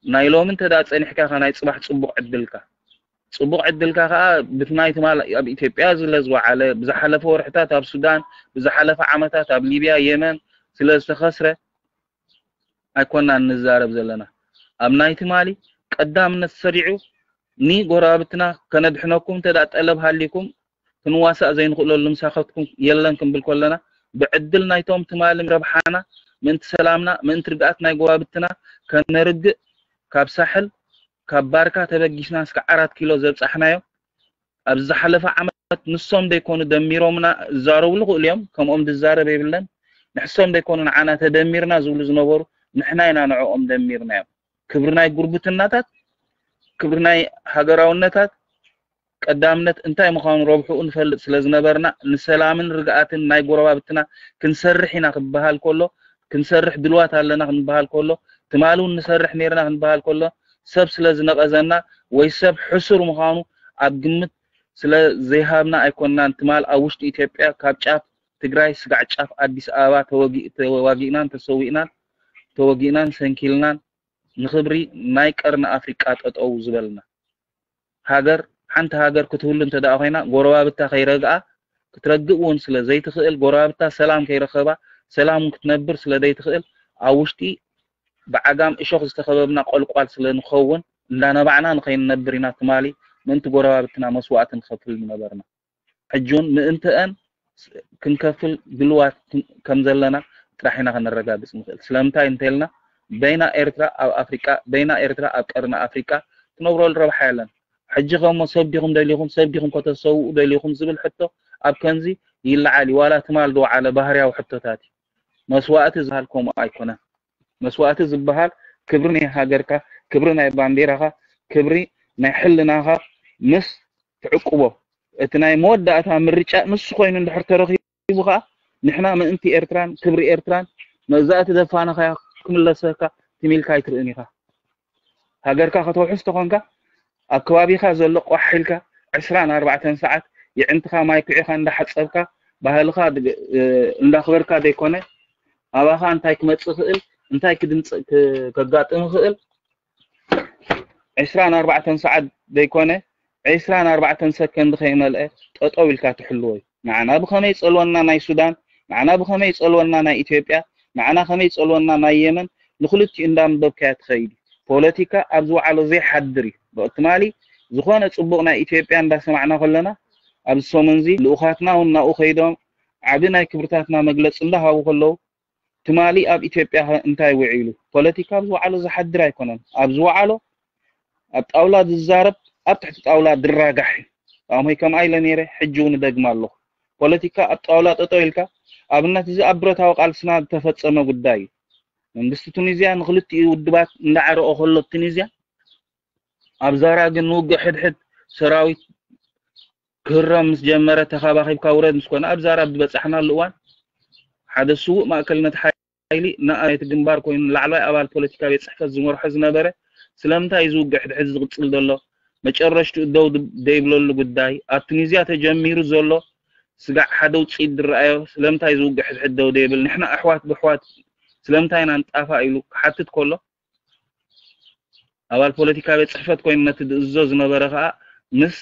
ናይ ሎሚ እንተ ደኣ ጸኒሕካ ኢኻ ናይ ጽባሕ ጽቡቕ ዕድልካ። ጽቡቕ ዕድልካ ከኣ ብቲ ናይ ትማል ኣብ ኢትዮጵያ ዝለ ዝወዓለ፣ ብዝሓለፈ ወርሕታት ኣብ ሱዳን፣ ብዝሓለፈ ዓመታት ኣብ ሊብያ፣ የመን ስለ ዝተኸስረ ኣይኮናን ንዛረብ ዘለና። ኣብ ናይ ትማሊ ቀዳምነት ሰሪዑ ንጎረባብትና ከነድሕነኩም እንተ ደኣ ጠለብ ሃሊኩም ክንዋሳእ ዘይንኽእለሉ ምሳኸትኩም የለን ክንብል ከለና፣ ብዕድል ናይቶም ትማሊ ረብሓና፣ ምእንቲ ሰላምና፣ ምእንቲ ርግኣት ናይ ጎረባብትና ከነርግእ፣ ካብ ሳሕል፣ ካብ ባርካ ተበጊስና እስከ ዓራት ኪሎ ዘብጻሕናዮ፣ ኣብዚ ዝሓለፈ ዓመት ንሶም ዘይኮኑ ደሚሮምና፣ ዝዛረቡ ይኽእሉ እዮም፣ ከምኦም ዝዛረብ የብለን። ንሕሶም ዘይኮኑ ንዓና ተደሚርና ዝብሉ ዝነበሩ፣ ንሕና ኢና ንዕኦም ደሚርናዮም። ክብሪ ናይ ጉርብትናታት፣ ክብሪ ናይ ሃገራውነታት፣ ቀዳምነት እንታይ ምዃኑ ረብሕኡ ንፈልጥ ስለ ዝነበርና፣ ንሰላምን ርግኣትን ናይ ጎረባብትና ክንሰርሕ ኢና ክበሃል ከሎ፣ ክንሰርሕ ድልዋት ኣለና ክንበሃል ከሎ፣ ትማሊ እውን ንሰርሕ ነይርና ክንበሃል ከሎ፣ ሰብ ስለ ዝነቐዘና ወይ ሰብ ሕሱር ምዃኑ ኣብ ግምት ስለ ዘይሃብና ኣይኮንናን። ትማል ኣብ ውሽጢ ኢትዮጵያ ካብ ጫፍ ትግራይ ስጋዕ ጫፍ ኣዲስ ኣበባ ተወጊ-፣ ተዋጊእናን ተሰዊእናን፣ ተወጊእናን ሰንኪልናን፣ ንኽብሪ ናይ ቀርኒ ኣፍሪቃ ጠጠው ዝበልና። ሃገር፣ ሓንቲ ሃገር ክትህሉ እንተ ደኣ ኮይና፣ ጎረባብታ ከይረግኣ፣ ክትረግእ እውን ስለ ዘይትኽእል፣ ጎረባብታ ሰላም ከይረኸባ፣ ሰላም እውን ክትነብር ስለ ዘይትኽእል፣ ኣብ ውሽጢ ብዓጋም እሾኽ ዝተኸበብና ቆልቋል ስለ ንኸውን፣ እንዳነባዕና ንኸይንነብር ኢና ትማሊ ምእንቲ ጎረባብትና መስዋእቲ ንኸፍል ዝነበርና። ሕጂ እውን ምእንትአን ክንከፍል ድልዋት ከም ዘለና ጥራሕ ኢና ከነረጋግጽ ንኽእል። ስለምንታይ እንተኢልና፣ በይና ኤርትራ ኣብ ኣፍሪቃ፣ በይና ኤርትራ ኣብ ቀርኒ ኣፍሪቃ ትነብረሉ ረብሓ የለን። ሕጂ ከሞ ሰብ ዲኹም ደሊኹም፣ ሰብ ዲኹም ከተሰውኡ ደሊኹም ዝብል ሕቶ ኣብ ከምዚ ይለዓል እዩ። ዋላ ትማል ዝወዓለ ባህርያዊ ሕቶታት እዩ። መስዋእቲ ዝበሃል ከምኡ ኣይኮነን። መስዋእቲ ዝበሃል ክብሪ ናይ ሃገርካ፣ ክብሪ ናይ ባንዴራኻ፣ ክብሪ ናይ ሕልናኻ ምስ ትዕቅቦ፣ እቲ ናይ መወዳእታ ምርጫ ንሱ ኮይኑ እንድሕር ተረኺቡ ኸኣ፣ ንሕና ምእንቲ ኤርትራን ክብሪ ኤርትራን መግዛእቲ ዘፋነኻያ ክምለሰካ ትም ኢልካ ኣይትርእን ኢኻ። ሃገርካ ከተውሕስ ተኾንካ፣ ኣብ ከባቢኻ ዘሎ ቋሕ ኢልካ ዕስራን ኣርባዕተን ሰዓት የዕንትኻ ማይ ኩዒኻ እንዳሓጸብካ፣ ባህልኻ ድ-፣ እ፣ እንዳኽበርካ ዘይኮነ፣ ኣባኻ እንታይ ክመጽእ ይኽእል፣ እንታይ ክድምጽእ ክ-፣ ከጋጥም ይኽእል፣ ዕስራን ኣርባዕተን ሰዓት ዘይኮነ፣ ዕስራን ኣርባዕተን ሰከንድ ከይመልአ ጠጠው ኢልካ ትሕልዎ እዩ። ንዓና ብኸመይ ጸልወና ናይ ሱዳን፣ ንዓና ብኸመይ ጸልወና ናይ ኢትዮጵያ፣ ንዓና ከመይ ጸልወና ናይ የመን፣ ንኽልቲኡ እንዳንበብካዮ ትኸይድ እዩ። ፖለቲካ ኣብ ዝወዓሎ ዘይሓድር እዩ። ብትማሊ ዝኾነ ጽቡቕ ናይ ኢትዮጵያ እንዳሰማዕና ከለና፣ ኣብዚ ሰሙን እዚ ልኡኻትና እውን ናብኡ ከይዶም ዓቢ ናይ ክብርታትና መግለጺ እንዳሃቡ ከለዉ፣ ትማሊ ኣብ ኢትዮጵያ ከ እንታይ ውዒሉ? ፖለቲካ ኣብ ዝወዓሎ ዝሓድር ኣይኮነን። ኣብ ዝወዓሎ ኣብ ጣውላ ዝዛረብ ኣብ ትሕቲ ጣውላ ዝራጋሕ እዩ። ኣሞይ ከምኣ ኢለ ነይረ፣ ሕጂ እውን እደግማ ኣለኹ። ፖለቲካ ኣብ ጣውላ ጠጠው ኢልካ፣ ኣብነት እዚ ኣብ ብረታዊ ቃልስና ዝተፈጸመ ጉዳይ እዩ። መንግስቲ ቱኒዝያ ንክልቲኡ ውድባት እንዳዓረቆ ከሎ ቱኒዝያ ኣብ ዛራ ግን ንውግእ ሕድሕድ ሰራዊት ክህረም ምስ ጀመረ፣ ተኻባኺብካ ውረድ ምስ ኮነ፣ ኣብ ዛራ ኣብ ዝበጻሕናሉ እዋን፣ ሓደ ስዉእ ማእከልነት ሓይሊ ንኣባል ናይቲ ግንባር ኮይኑ፣ ላዕለዋይ ኣባል ፖለቲካ ቤት ጽሕፈት ዝመርሖ ዝነበረ፣ ስለምንታይ እዚ ውግእ ሕድሕድ ዝቕጽል ዘሎ፣ መጨረሽትኡ ደው ድ-፣ ደይብለሉ ጉዳይ፣ ኣብ ቱኒዝያ ተጀሚሩ ዘሎ ስጋዕ ሓደ ውጽኢት ዝረኣዮ፣ ስለምንታይ እዚ ውግእ ሕድሕድ ደው ደይብል፣ ንሕና ኣሕዋት ብኣሕዋት ስለምንታይ ኢና ንጣፋእ ኢሉ ክሓትት ከሎ፣ ኣባል ፖለቲካ ቤት ጽሕፈት ኮይኑ ነቲ ዝእዝዞ ዝነበረ ከኣ ምስ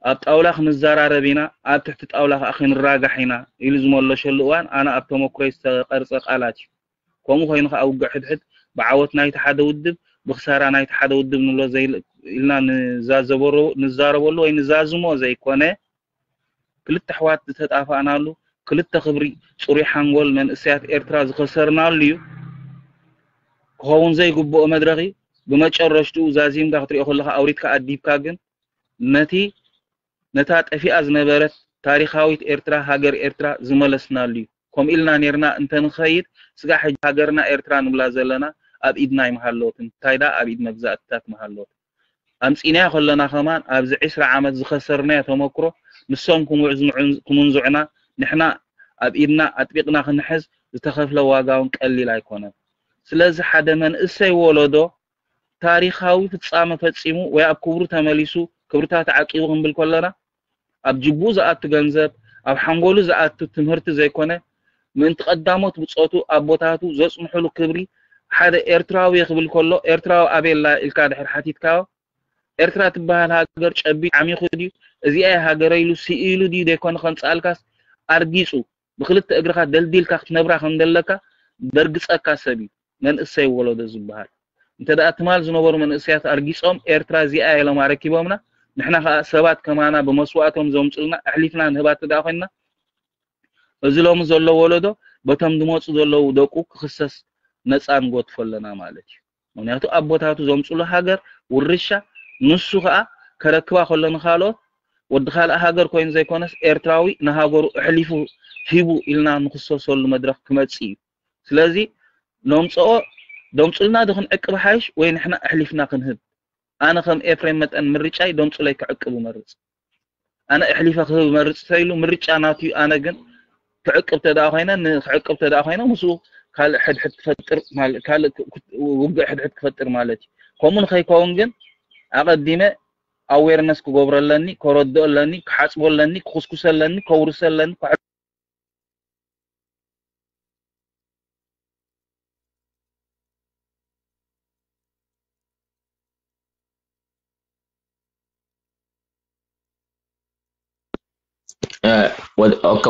ኣብ ጣውላ ክንዘራረብ ኢና፣ ኣብ ትሕቲ ጣውላ ከኣ ክንራጋሕ ኢና ኢሉ ዝመለሸሉ እዋን ኣነ ኣብ ተመክሮይ ዝተቐርጸ ቃላት እዩ። ከምኡ ኮይኑ ከኣ ውግእ ሕድሕድ ብዓወት ናይቲ ሓደ ውድብ ብኽሳራ ናይቲ ሓደ ውድብ ንብሎ ዘይ ኢልና ንዛዘበሮ-፣ ንዛረበሉ ወይ ንዛዝሞ ዘይኮነ፣ ክልተ ኣሕዋት ዝተጣፋእናሉ፣ ክልተ ክብሪ ጽሩይ ሓንጎል መንእሰያት ኤርትራ ዝኸሰርናሉ እዩ። ክኸውን ዘይግብኦ መድረኽ እዩ። ብመጨረሽትኡ ዛዚምካ ክትሪኦ ከለኻ ኣውሪድካ ኣዲብካ ግን ነቲ ነታ ጠፊኣ ዝነበረት ታሪኻዊት ኤርትራ፣ ሃገር ኤርትራ ዝመለስናሉ እዩ። ከምኡ ኢልና ኔርና እንተንኸይድ፣ ስጋዕ ሕጂ ሃገርና ኤርትራ ንብላ ዘለና ኣብ ኢድና ኣይምሃለወትን፣ እንታይ ደኣ ኣብ ኢድ መግዛእትታት ምሃለወት። ኣምጺእናዮ ከለና ከማን ኣብዚ ዕስራ ዓመት ዝኸሰርናዮ ተመክሮ ንሶም ክምንዝዑና፣ ንሕና ኣብ ኢድና ኣጥቢቕና ክንሕዝ ዝተኸፍለ ዋጋ እውን ቀሊል ኣይኮነን። ስለዚ ሓደ መንእሰይ ወለዶ ታሪኻዊ ፍጻመ ፈጺሙ ወይ ኣብ ክብሩ ተመሊሱ ክብርታት ዓቂቡ ክንብል ከለና ኣብ ጅቡ ዝኣቱ ገንዘብ ኣብ ሓንጎሉ ዝኣቱ ትምህርቲ ዘይኮነ ምእንቲ ቀዳሞት ብጾቱ ኣቦታቱ ዘጽንሑሉ ክብሪ ሓደ ኤርትራዊ ክብል ከሎ ኤርትራዊ ኣበይ ኣላ ኢልካ ድሕር ሓቲትካዮ ኤርትራ ትበሃል ሃገር ጨቢጡ ዓሚኹ ድዩ እዚኣ እያ ሃገረይ ኢሉ ስኢሉ ድዩ ዘይኮነ ከምጽኣልካስ ኣርጊጹ ብክልተ እግርኻ ደልዲልካ ክትነብራ ከም ዘለካ ደርግጸካ ሰብ እዩ መንእሰይ ወለዶ ዝበሃል። እንተ ደኣ ትማል ዝነበሩ መንእሰያት ኣርጊጾም ኤርትራ እዚኣ እያ ኢሎም ኣረኪቦምና፣ ንሕና ከኣ ሰባት ከማና ብመስዋእቶም ዘምጹልና ኣሕሊፍና ንህባ እንተ ደኣ ኮይንና፣ እዚ ሎሚ ዘሎ ወለዶ በቶም ዝመጹ ዘለዉ ደቁ ክኽሰስ ነጻ ንጎትፎ ኣለና ማለት እዩ። ምክንያቱ ኣቦታቱ ዘምጹሉ ሃገር ውርሻ ንሱ ከኣ ከረክባ ከሎ ንኻልኦት ወዲ ካልእ ሃገር ኮይኑ ዘይኮነስ ኤርትራዊ ንሃገሩ ኣሕሊፉ ሂቡ ኢልና ንኽሰሰሉ መድረኽ ክመጽእ እዩ። ስለዚ ነምጽኦ ደምጹልና ዶ ክንዕቅብ ሓይሽ ወይ ንሕና ኣሕሊፍና ክንህብ? ኣነ ከም ኤፍሬም መጠን ምርጫይ ደምጹለይ ክዕቅብ እመርጽ። ኣነ ኣሕሊፈ ክህብ እመርጽ ተይሉ ምርጫ ናቱ እዩ። ኣነ ግን ክዕቅብ ተደኣ ኮይነ ንክዕቅብ ተደኣ ኮይነ ምስኡ ካልእ ሕድሕድ ክፈጥር ማለት ካልእ ክ- ክ- ውግእ ሕድሕድ ክፈጥር ማለት እዩ። ከምኡ ንኸይከውን ግን ኣቐዲመ ኣዌርነስ ክገብሮ ኣለኒ፣ ከረድኦ ኣለኒ፣ ክሓጽቦ ኣለኒ፣ ክኹስኩሰ ኣለኒ፣ ከውርሰ ኣለኒ፣ ክሕ-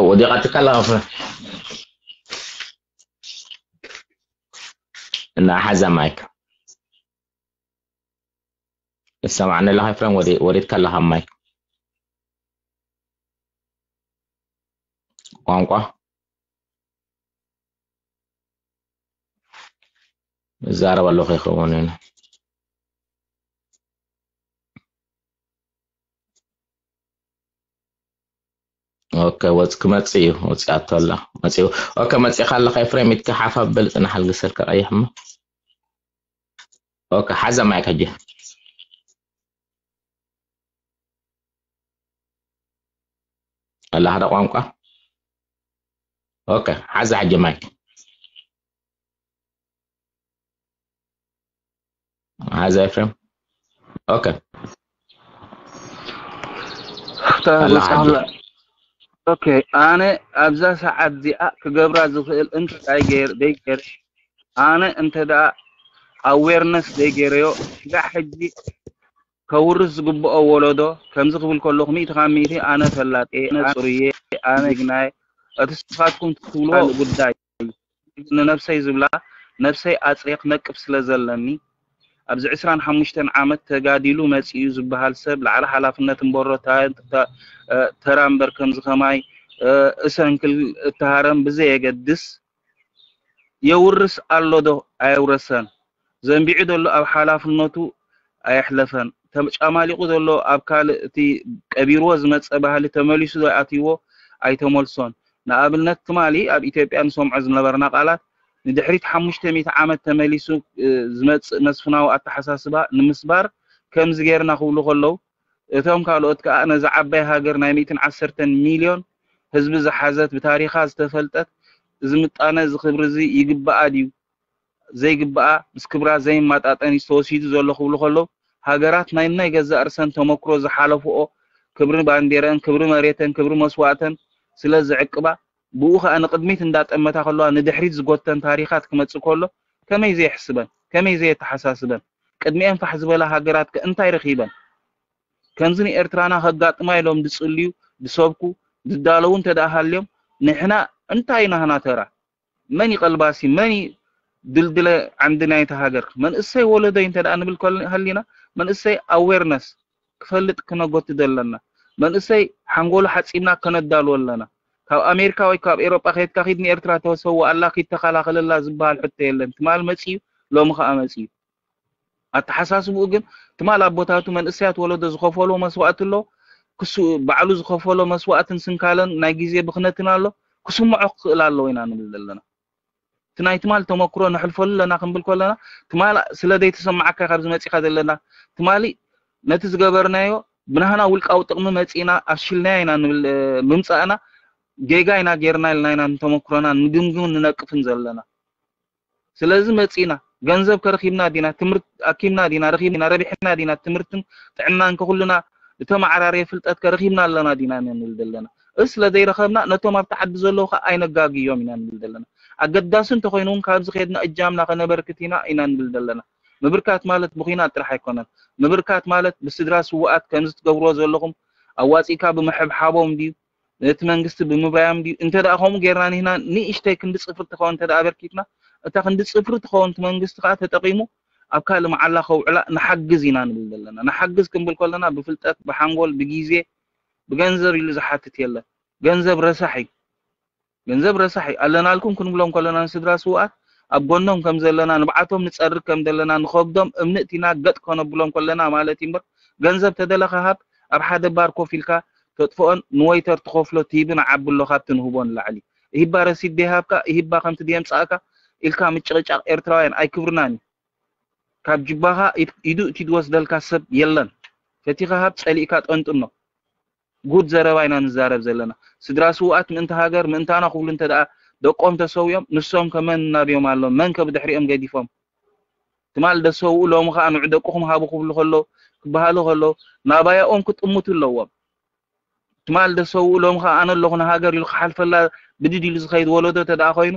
ወዲቓትካ ኣለኻ ፍረ እና ሓዛ ማይክ እሰማዕኒ ኣለኻ ፍረም ወዲትካ ኣለኻ ማይክ ቋንቋ እዛረብ ኣለኹ ይኸውን ኦኬ ወጽ ክመጽእ እዩ ወጽኣቶ ኣላ መጽኡ ኦኬ መጽእኻ ኣለኻ ኤፍሬም ኢትካ ሓፍ ኣብል ጽናሕ ኣልግሰልካ ቀይሕ እሞ ኦኬ ሓዛ ማይክ ሕጂ ኣላ ሓደ ቋንቋ ኦኬ ሓዛ ሕጂ ማይክ ሓዛ ኤፍሬም ኦኬ ኦኬ ኣነ ኣብዛ ሰዓት እዚኣ ክገብራ ዝኽእል እንታይ ገይር ደይ ገይር ኣነ እንተ ደኣ ኣዌርነስ ደይ ገይረዮ ስጋዕ ሕጂ ከውርስ ዝግብኦ ወለዶ ከምዚ ክብል ከለኹ ሚእቲ ካብ ሚእቲ ኣነ ፈላጤ ኣነ ጽሩየ ኣነ ጅግናየ እቲ ስኻትኩም ትብልዎ ጉዳይ ንነብሰይ ዝብላ ነብሰይ ኣጽርየ ክነቅፍ ስለ ዘለኒ ኣብዚ ዕስራን ሓሙሽተን ዓመት ተጋዲሉ መጺኡ ዝበሃል ሰብ ላዕሊ ሓላፍነት እምበሮ ተራ እምበር ከምዚ ከማይ እሰንክል እተሃረም ብዘየገድስ የውርስ ኣሎ ዶ ኣየውረሰን ዘንቢዑ ዘሎ ኣብ ሓላፍነቱ ኣየሕለፈን ተጫማሊቑ ዘሎ ኣብ ካልእ እቲ ቀቢርዎ ዝመጸ ባህሊ ተመሊሱ ዶ ኣትይዎ ኣይተመልሶን ንኣብነት ትማሊ ኣብ ኢትዮጵያ ንሰምዖ ዝነበርና ቃላት ንድሕሪት ሓሙሽተ ሚእቲ ዓመት ተመሊሱ ዝመጽእ መስፍናዊ ኣተሓሳስባ ንምስባር ከምዚ ጌርና ክብሉ ከለዉ እቶም ካልኦት ከኣ ነዛ ዓባይ ሃገር ናይ ሚእትን ዓሰርተን ሚልዮን ህዝቢ ዝሓዘት ብታሪኻ ዝተፈልጠት እዚ ምጣነ እዚ ክብሪ እዚ ይግብኣ ድዩ ዘይግብኣ ምስ ክብራ ዘይማጣጠን እዩ ተወሲዱ ዘሎ ክብሉ ከለዉ ሃገራት ናይ ናይ ገዛእ ርእሰን ተመክሮ ዝሓለፍኦ ክብሪ ባንዴረአን ክብሪ መሬተን ክብሪ መስዋእተን ስለ ዝዕቅባ ብኡ ከኣ ንቕድሚት እንዳጠመታ ከለዋ ንድሕሪት ዝጎተን ታሪኻት ክመጽእ ከሎ ከመይ ዘየሕስበን ከመይ ዘየተሓሳስበን ቅድሚኤን ፋሕ ዝበላ ሃገራት ከ እንታይ ረኺበን ከምዚ ንኤርትራና ከጋጥማ ኢሎም ዝጽልዩ ዝሰብኩ ዝዳለዉ እንተ ደኣ ሃልዮም ንሕና እንታይ ናህና ተራ መን እዩ ቀልባሲ መን እዩ ድልድለ ዓንዲ ናይቲ ሃገር መንእሰይ ወለዶይ እንተ ደኣ ንብል ሃሊና መንእሰይ ኣዌርነስ ክፈልጥ ክነጎትት ኣለና መንእሰይ ሓንጎሉ ሓጺብና ከነዳልዎ ኣለና ካብ ኣሜሪካ ወይ ካብ ኤሮጳ ከድካ ኪድ ንኤርትራ ተሰውኣላ ኪድ ተኸላኸለላ ዝበሃል ሕቶ የለን ትማል መጺኡ ሎሚ ከኣ መጺኡ ኣተሓሳስብኡ ግን ትማል ኣቦታቱ መንእሰያት ወለዶ ዝኸፈሎ መስዋእቲ ኣሎ። ክሱ ባዕሉ ዝኸፈሎ መስዋእትን ስንካለን ናይ ግዜ ብኽነትን ኣሎ። ክስምዖ ክኽእል ኣለዎ ኢና ንብል ዘለና። እቲ ናይ ትማል ተመክሮ ነሕልፈሉ ኣለና ክንብል ከለና ትማል ስለ ዘይተሰማዓካ ካብ ዝመጺኻ ዘለና ትማሊ ነቲ ዝገበርናዮ ብናህና ውልቃዊ ጥቕሚ መጺና ኣሽልናዮ ኢና ንብል ምምጻእና ጌጋ ኢና ጌርና ኢልና ኢና ንተመክሮና ንግምግም ንነቅፍን ዘለና። ስለዚ መጺና ገንዘብ ከረኺብና ዲና ትምህርቲ ኣኪብና ዲና ረኺብና ረቢሕና ዲና ትምህርትን ጥዕናን ከኩልና ዝተመዓራረየ ፍልጠት ከረኺብና ኣለና ዲና ንብል ዘለና። እዚ ስለ ዘይረኸብና ነቶም ኣብቲ ዓዲ ዘለዉ ከዓ ኣይነጋግዮም ኢና ንብል ዘለና። ኣገዳሲ እንተኮይኑ እውን ካብዚ ከድና እጃምና ከነበርክት ኢና ኢና ንብል ዘለና። ምብርካት ማለት ብኩናት ጥራሕ ኣይኮነን። ምብርካት ማለት ብስድራ ስውኣት ከምዚ ትገብርዎ ዘለኹም ኣዋፂእካ ብምሕብሓቦም ድዩ ነቲ መንግስቲ ብምብራዮም ድዩ? እንተ ደኣ ከምኡ ጌርና ንህና ንእሽተይ ክንዲ ፅፍሪ ትኸውን እንተ ደኣ ኣበርኪትና እታ ክንዲ ፅፍሪ ትኸውን እቲ መንግስቲ ከዓ ተጠቂሙ ኣብ ካልእ መዓላ ከውዕላ ንሓግዝ ኢና ንብል ዘለና። ንሓግዝ ክንብል ከለና ብፍልጠት፣ ብሓንጎል፣ ብጊዜ፣ ብገንዘብ ኢሉ ዝሓትት የለን። ገንዘብ ረሳሕ እዩ። ገንዘብ ረሳሕ እዩ። ኣለናልኩም ክንብሎም ከለና ንስድራ ስውኣት ኣብ ጎኖም ከም ዘለና ንብዓቶም ንጸርግ ከም ዘለና ንኸብዶም እምኒ እቲና ገጥ ከነብሎም ከለና ማለት እዩ እምበር ገንዘብ ተደለኻ ሃብ ኣብ ሓደ ባር ኮፍ ኢልካ ተጥፍኦን ንወይተር ትኸፍሎ ትሂብን ዓቢ ኣሎ ካብቲ ንህቦ ንላዕሊ። ይህባ ረሲድ ደይሃብካ ይህባ ከምቲ ደየምጻእካ ኢልካ ምጭቕጫቕ ኤርትራውያን ኣይክብርናን እዩ። ካብ ጅባኻ ኢድ- ኢዱ እቲ ዝወስደልካ ሰብ የለን። ፈቲኻ ሃብ ጸሊእካ ጠንጥኖ። ጉድ ዘረባ ኢና ንዛረብ ዘለና። ስድራ ስውኣት ምእንቲ ሃገር ምእንታና ክብሉ እንተ ደኣ ደቆም ተሰዊኦም ንሶም ከመን እናብዮም ኣሎ መን ከ ብድሕሪኦም ገዲፎም ትማል ደሰውኡ ሎሚ ከዓ ንዑ ደቅኹም ሃቡ ክብሉ ከሎ ክበሃሉ ከሎ ናባያኦም ክጥምቱ ኣለዎም። ትማል ደሰውኡ ሎም ከኣ ኣነ ኣለኹ ንሃገር ኢሉ ክሓልፈላ ብድድ ኢሉ ዝኸይድ ወለዶ ተደኣ ኮይኑ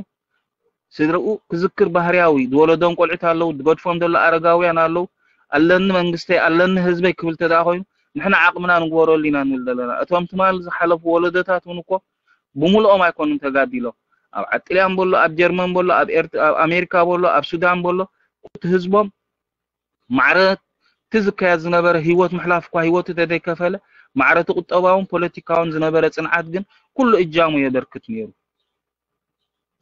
ስድርኡ ክዝክር ባህርያዊ ዝወለዶም ቆልዑት ኣለዉ ዝገድፎም ዘሎ ኣረጋውያን ኣለዉ ኣለኒ መንግስተይ ኣለኒ ህዝበይ ክብል ተደኣ ኮይኑ ንሕና ዓቕምና ንግበረሉ ኢና ንብል ዘለና እቶም ትማል ዝሓለፉ ወለዶታት እውን እኮ ብምልኦም ኣይኮኑን ተጋዲሎም ኣብ ዓጥልያን በሎ ኣብ ጀርመን በሎ ኣብ ኣሜሪካ በሎ ኣብ ሱዳን በሎ እቲ ህዝቦም ማዕረ እቲ ዝካየድ ዝነበረ ህይወት ምሕላፍ እኳ ህይወቱ ተዘይከፈለ ማዕረ እቲ ቁጠባውን ፖለቲካውን ዝነበረ ፅንዓት ግን ኩሉ እጃሙ የበርክት ነይሩ።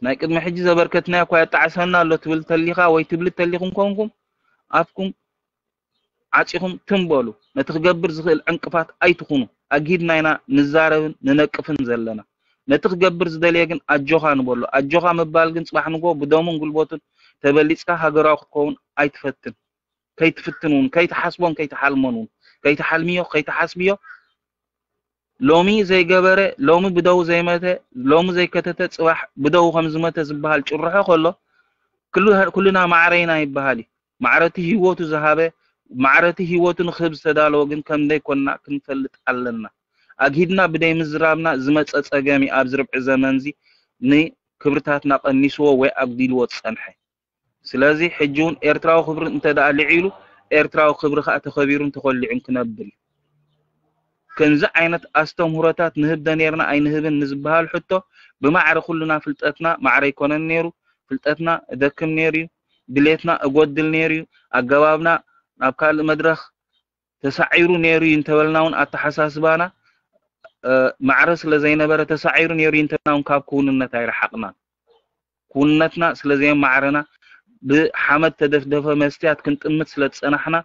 ናይ ቅድሚ ሕጂ ዘበርከትናዮ እኳ የጣዕሰና ኣሎ ትብል ተሊኻ ወይ ትብሊ ተሊኹም ኮንኩም ኣፍኩም ዓፂኹም ትም በሉ። ነቲ ክገብር ዝኽእል ዕንቅፋት ኣይትኹኑ። ኣግሂድና ኢና ንዛረብን ንነቅፍን ዘለና። ነቲ ክገብር ዝደልየ ግን ኣጆኻ ንበሎ። ኣጆኻ ምባል ግን ፅባሕ ንጎ ብደሙን ጉልበቱን ተበሊፅካ ሃገራዊ ክትከውን ኣይትፈትን። ከይትፍትን እውን ከይትሓስቦን ከይትሓልሞን እውን ከይትሓልምዮ ከይትሓስብዮ ሎሚ ዘይገበረ ሎሚ ብደው ዘይመተ ሎሚ ዘይከተተ ፅባሕ ብደው ከም ዝመተ ዝበሃል ጭርሖ ከሎ ኩልና ማዕረ ኢና ይበሃል እዩ። ማዕረ እቲ ህይወቱ ዝሃበ ማዕረ እቲ ህይወቱ ንክህብ ዝተዳለወ ግን ከም ዘይኮንና ክንፈልጥ ኣለና። ኣግሂድና ብደይ ምዝራብና ዝመፀ ፀገም እዩ ኣብዚ ርብዒ ዘመን እዚ ንክብርታትና ቀኒስዎ ወይ ኣጉዲልዎ ዝፀንሐ። ስለዚ ሕጂ እውን ኤርትራዊ ክብሪ እንተ ደኣ ልዒሉ ኤርትራዊ ክብሪ ከኣ ተኸቢሩን ተኾሊዑን ክነብር እዩ። ከምዚ ዓይነት ኣስተምህሮታት ንህብ ዶ ነይርና ኣይንህብን ንዝበሃል ሕቶ ብማዕረ ኩልና ፍልጠትና ማዕረ ኣይኮነን ነይሩ። ፍልጠትና እደክም ነይሩ እዩ። ድሌትና እጎድል ነይሩ እዩ። ኣገባብና ናብ ካልእ መድረኽ ተሳዒሩ ነይሩ እዩ እንተበልና እውን ኣተሓሳስባና ማዕረ ስለ ዘይነበረ ተሳዒሩ ነይሩ እዩ እንተበልና እውን ካብ ክውንነት ኣይረሓቕናን። ክውንነትና ስለ ዘየማዕረና ብሓመድ ተደፍደፈ መስትያት ክንጥምት ስለ ዝጸናሕና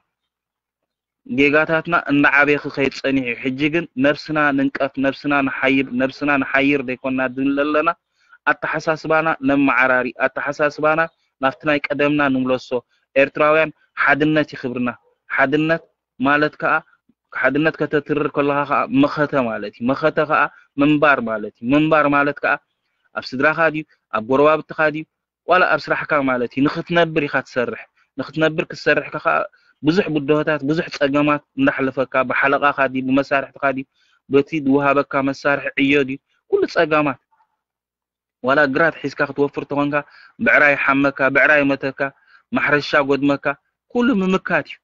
ጌጋታትና እንዳዓበየ ክኸይድ ጸኒሑ እዩ። ሕጂ ግን ነብስና ንንቀፍ፣ ነብስና ንሓይብ፣ ነብስና ንሓይር ዘይኮንና ድንለ ኣለና። ኣተሓሳስባና ነመዓራሪ፣ ኣተሓሳስባና ናብቲ ናይ ቀደምና ንምለሶ። ኤርትራውያን ሓድነት እዩ ክብርና። ሓድነት ማለት ከኣ ሓድነት ከተትርር ከለኻ ከኣ መኸተ ማለት እዩ። መኸተ ከኣ ምንባር ማለት እዩ። ምንባር ማለት ከኣ ኣብ ስድራኻ ድዩ ኣብ ጎረባብትኻ ድዩ ዋላ ኣብ ስራሕካ ማለት እዩ ንክትነብር ኢኻ ትሰርሕ ንክትነብር ክትሰርሕ ከ ብዙሕ ብድሆታት ብዙሕ ፀገማት እንዳሕለፈካ ብሓለቃካ ድዩ ብመሳርሕትካ ድዩ በቲ ዝወሃበካ መሳርሒ ዕዮ ድዩ ኩሉ ፀገማት ዋላ ግራት ሒዝካ ክትወፍር ተኾንካ ብዕራይ ሓመካ ብዕራይ መተካ ማሕረሻ ጎድመካ ኩሉ ምምካት እዩ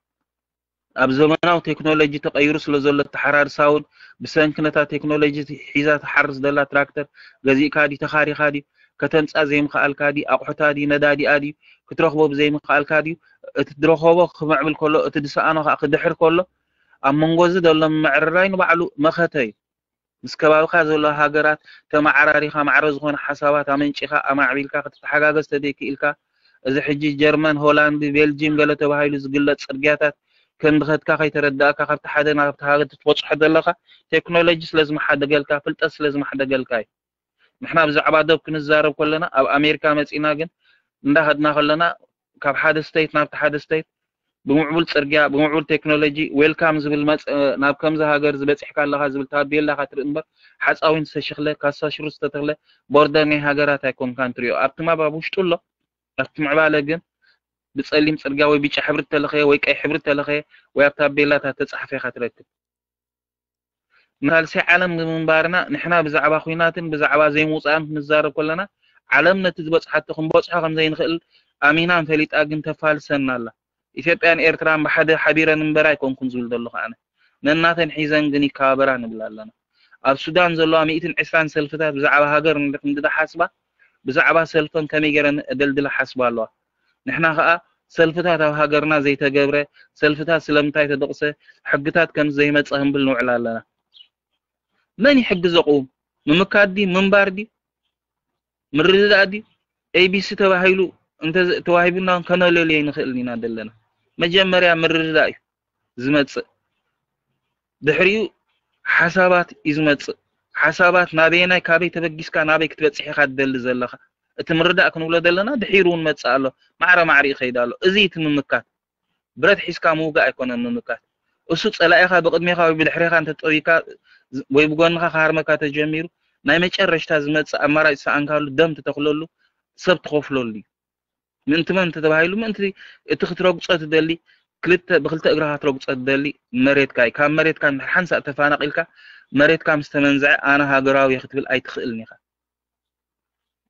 ኣብ ዘመናዊ ቴክኖሎጂ ተቐይሩ ስለ ዘሎ ተሓራርሳ እውን ብሰንኪ ነታ ቴክኖሎጂ ሒዛ ትሓርስ ዘላ ትራክተር ገዚእካ ድዩ ተኻሪኻ ድዩ ከተምፅኣ ዘይምኽኣልካ ድዩ ኣቑሑታ ድዩ ነዳዲኣ ድዩ ክትረኽቦ ብዘይምኽኣልካ ድዩ እቲ ዝረኸቦ ክምዕብል ከሎ እቲ ዝሰኣኖ ከዓ ክድሕር ከሎ ኣብ መንጎ እዚ ዘሎ ምምዕርራይ ንባዕሉ መኸተ እዩ ምስ ከባብኻ ዘሎ ሃገራት ተመዓራሪኻ ማዕረ ዝኾነ ሓሳባት ኣመንጪኻ ኣማዕቢልካ ክትተሓጋገዝ ተደይክኢልካ እዚ ሕጂ ጀርመን ሆላንድ ቤልጂም ገለ ተባሂሉ ዝግለፅ ፅርግያታት ከንድኸትካ ከይተረዳእካ ካብቲ ሓደ ናብቲ ሃገር ትበፅሖ ዘለኻ ቴክኖሎጂ ስለ ዝመሓደገልካ፣ ፍልጠት ስለ ዝመሓደገልካ እዩ። ንሕና ብዛዕባ ዶብ ክንዛረብ ከለና ኣብ ኣሜሪካ መፂና ግን እንዳኸድና ከለና ካብ ሓደ ስቴት ናብቲ ሓደ ስቴት ብምዕቡል ፅርግያ ብምዕቡል ቴክኖሎጂ ዌልካም ዝብል መፅ ናብ ከምዚ ሃገር ዝበፂሕካ ኣለኻ ዝብል ታቤላ ኢኻ ትርኢ እምበር ሓፃዊን ዝተሸኽለ ካሳ ሽሩ ዝተተኽለ ቦርደር ናይ ሃገራት ኣይኮንካን ትሪኦ። ኣብቲ ማብ ኣብ ውሽጡ ኣሎ ኣብቲ ምዕባለ ግን ብፀሊም ፅርግያ ወይ ብጫ ሕብሪ ተለኸየ ወይ ቀይ ሕብሪ ተለኸየ ወይ ኣብ ታቤላታት ተፃሕፈ ኢኻ ትረክብ። ንሳልሳይ ዓለም ንምንባርና ንሕና ብዛዕባ ኹናትን ብዛዕባ ዘይምውፃእን ክንዛረብ ከለና ዓለም ነቲ ዝበፅሓቶ ክንበፅሖ ከም ዘይንኽእል ኣሚናን ፈሊጣ ግን ተፋልሰና ኣላ። ኢትዮጵያን ኤርትራን ብሓደ ሓቢረን እምበር ኣይኮንኩን ዝብል ዘለኹ ኣነ። ነናተን ሒዘን ግን ይከባበራ ንብል ኣለና። ኣብ ሱዳን ዘለዋ ሚእትን ዕስራን ሰልፍታት ብዛዕባ ሃገር እንድሕር ሓስባ ብዛዕባ ሰልፈን ከመይ ገይረን ኣደልድላ ሓስባ ኣለዋ። ንሕና ኸኣ ሰልፍታት ኣብ ሃገርና ዘይተገብረ ሰልፍታት ስለምንታይ ተደቕሰ ሕግታት ከም ዘይመጸ ክንብል ንውዕል ኣለና። መን እዩ ሕጊ ዘቕውም? ምምካት ድዩ? ምንባር ድዩ? ምርድዳእ ድዩ? ኤቢሲ ተባሂሉ እንተ ተዋሂቡና ከነለልዮ ኣይንኽእልን ኢና ዘለና። መጀመርያ ምርድዳእ እዩ ዝመጽእ። ድሕሪኡ ሓሳባት እዩ ዝመጽእ። ሓሳባት ናበየናይ ካበይ ተበጊስካ ናበይ ክትበጽሕ ኢኻ ትደሊ ዘለኻ? እቲ ምርዳእ ክንብሎ ዘለና ድሒሩ እውን መጽእ ኣሎ። ማዕረ ማዕሪኡ ይኸይድ ኣሎ። እዚ እቲ ምምካት። ብረት ሒዝካ ምውጋእ ኣይኮነን ምምካት። እሱ ጸላኢኻ ብቕድሜኻ ወይ ብድሕሬኻ እንተጠውይካ ወይ ብጎንኻ ክሃርመካ ተጀሚሩ ናይ መጨረሽታ ዝመጽእ ኣማራጭ ዝሰኣንካሉ ደም ትተኽለሉ ሰብ ትኸፍለሉ እዩ። ምእንቲ መን እንተተባሂሉ ምእንቲ እቲ ክትረግጾ ትደሊ ክልተ ብክልተ እግርኻ ክትረግጾ ትደሊ መሬትካ እዩ። ካብ መሬትካ እንድሕር ሓንሳእ ተፋናቒልካ መሬትካ ምስ ተመንዝዐ ኣነ ሃገራዊ እየ ክትብል ኣይትኽእልን ኢኻ።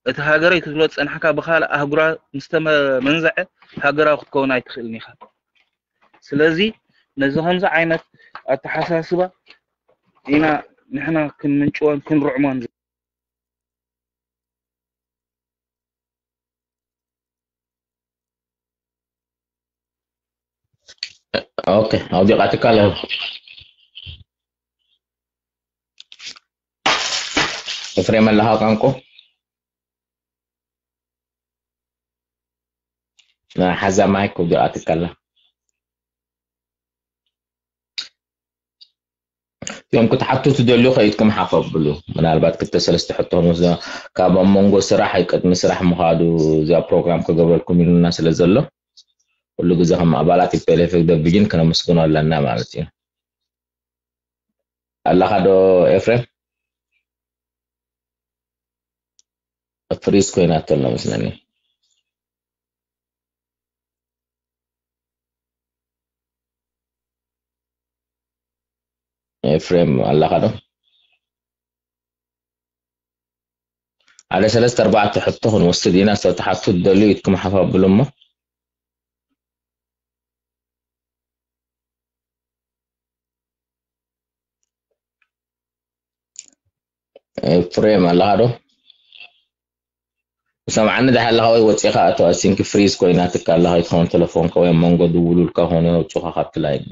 እቲ ሃገረይ ክትብሎ ዝጸናሕካ ብኻልእ ኣህጉራዊ ምስ ተመንዝዐ ሃገራዊ ክትከውን ኣይትኽእልን ኢኻ። ስለዚ ነዚ ከምዚ ዓይነት ኣተሓሳስባ ኢና ንሕና ክንምንጭዎን ክንርዕሞን ኦኬ ኣውዲቓትካ ኣለኹ። ኤፍሬም ኣለኻ ቋንቋ ሓዛ ማይክ ኣውዲቓትካ ኣላ። እቲኦም ክትሓቱ ትደልዩ ከይድኩም ሓፍ ኣብሉ። ምናልባት ክልተ ሰለስተ ሕቶ ክንወስዶ ካብ ኣብ መንጎ ስራሕ ቅድሚ ስራሕ ምኻዱ እዚኣ ፕሮግራም ክገብረልኩም ኢሉና ስለ ዘሎ ኩሉ ግዜ ከም ኣባላት ቲፒኤልኤፍ ደብጅን ክነመስግኖ ኣለና ማለት እዩ። ኣለኻ ዶ ኤፍሬም? ፍሪዝ ኮይና ተሎ መስለኒ። ኤፍሬም ኣለኻ ዶ? ሓደ ሰለስተ ኣርባዕተ ሕቶ ክንወስድ ኢና። ሰብ ትሓቱ ትደልዩ ኢድኩም ሓፍ ኣብሉ እሞ። ኤፍሬም ኣለኻ ዶ? ሰምዓኒ ደሓ ኣለኻ ወይ ወፂኻ ኣቶ ኣሲንኪ ፍሪዝ ኮይናትካ ኣለኻ ይትኸውን ተለፎንካ ወይ ኣብ መንጎ ድውሉልካ ኾነ የውፅኻ ካብቲ ላይን።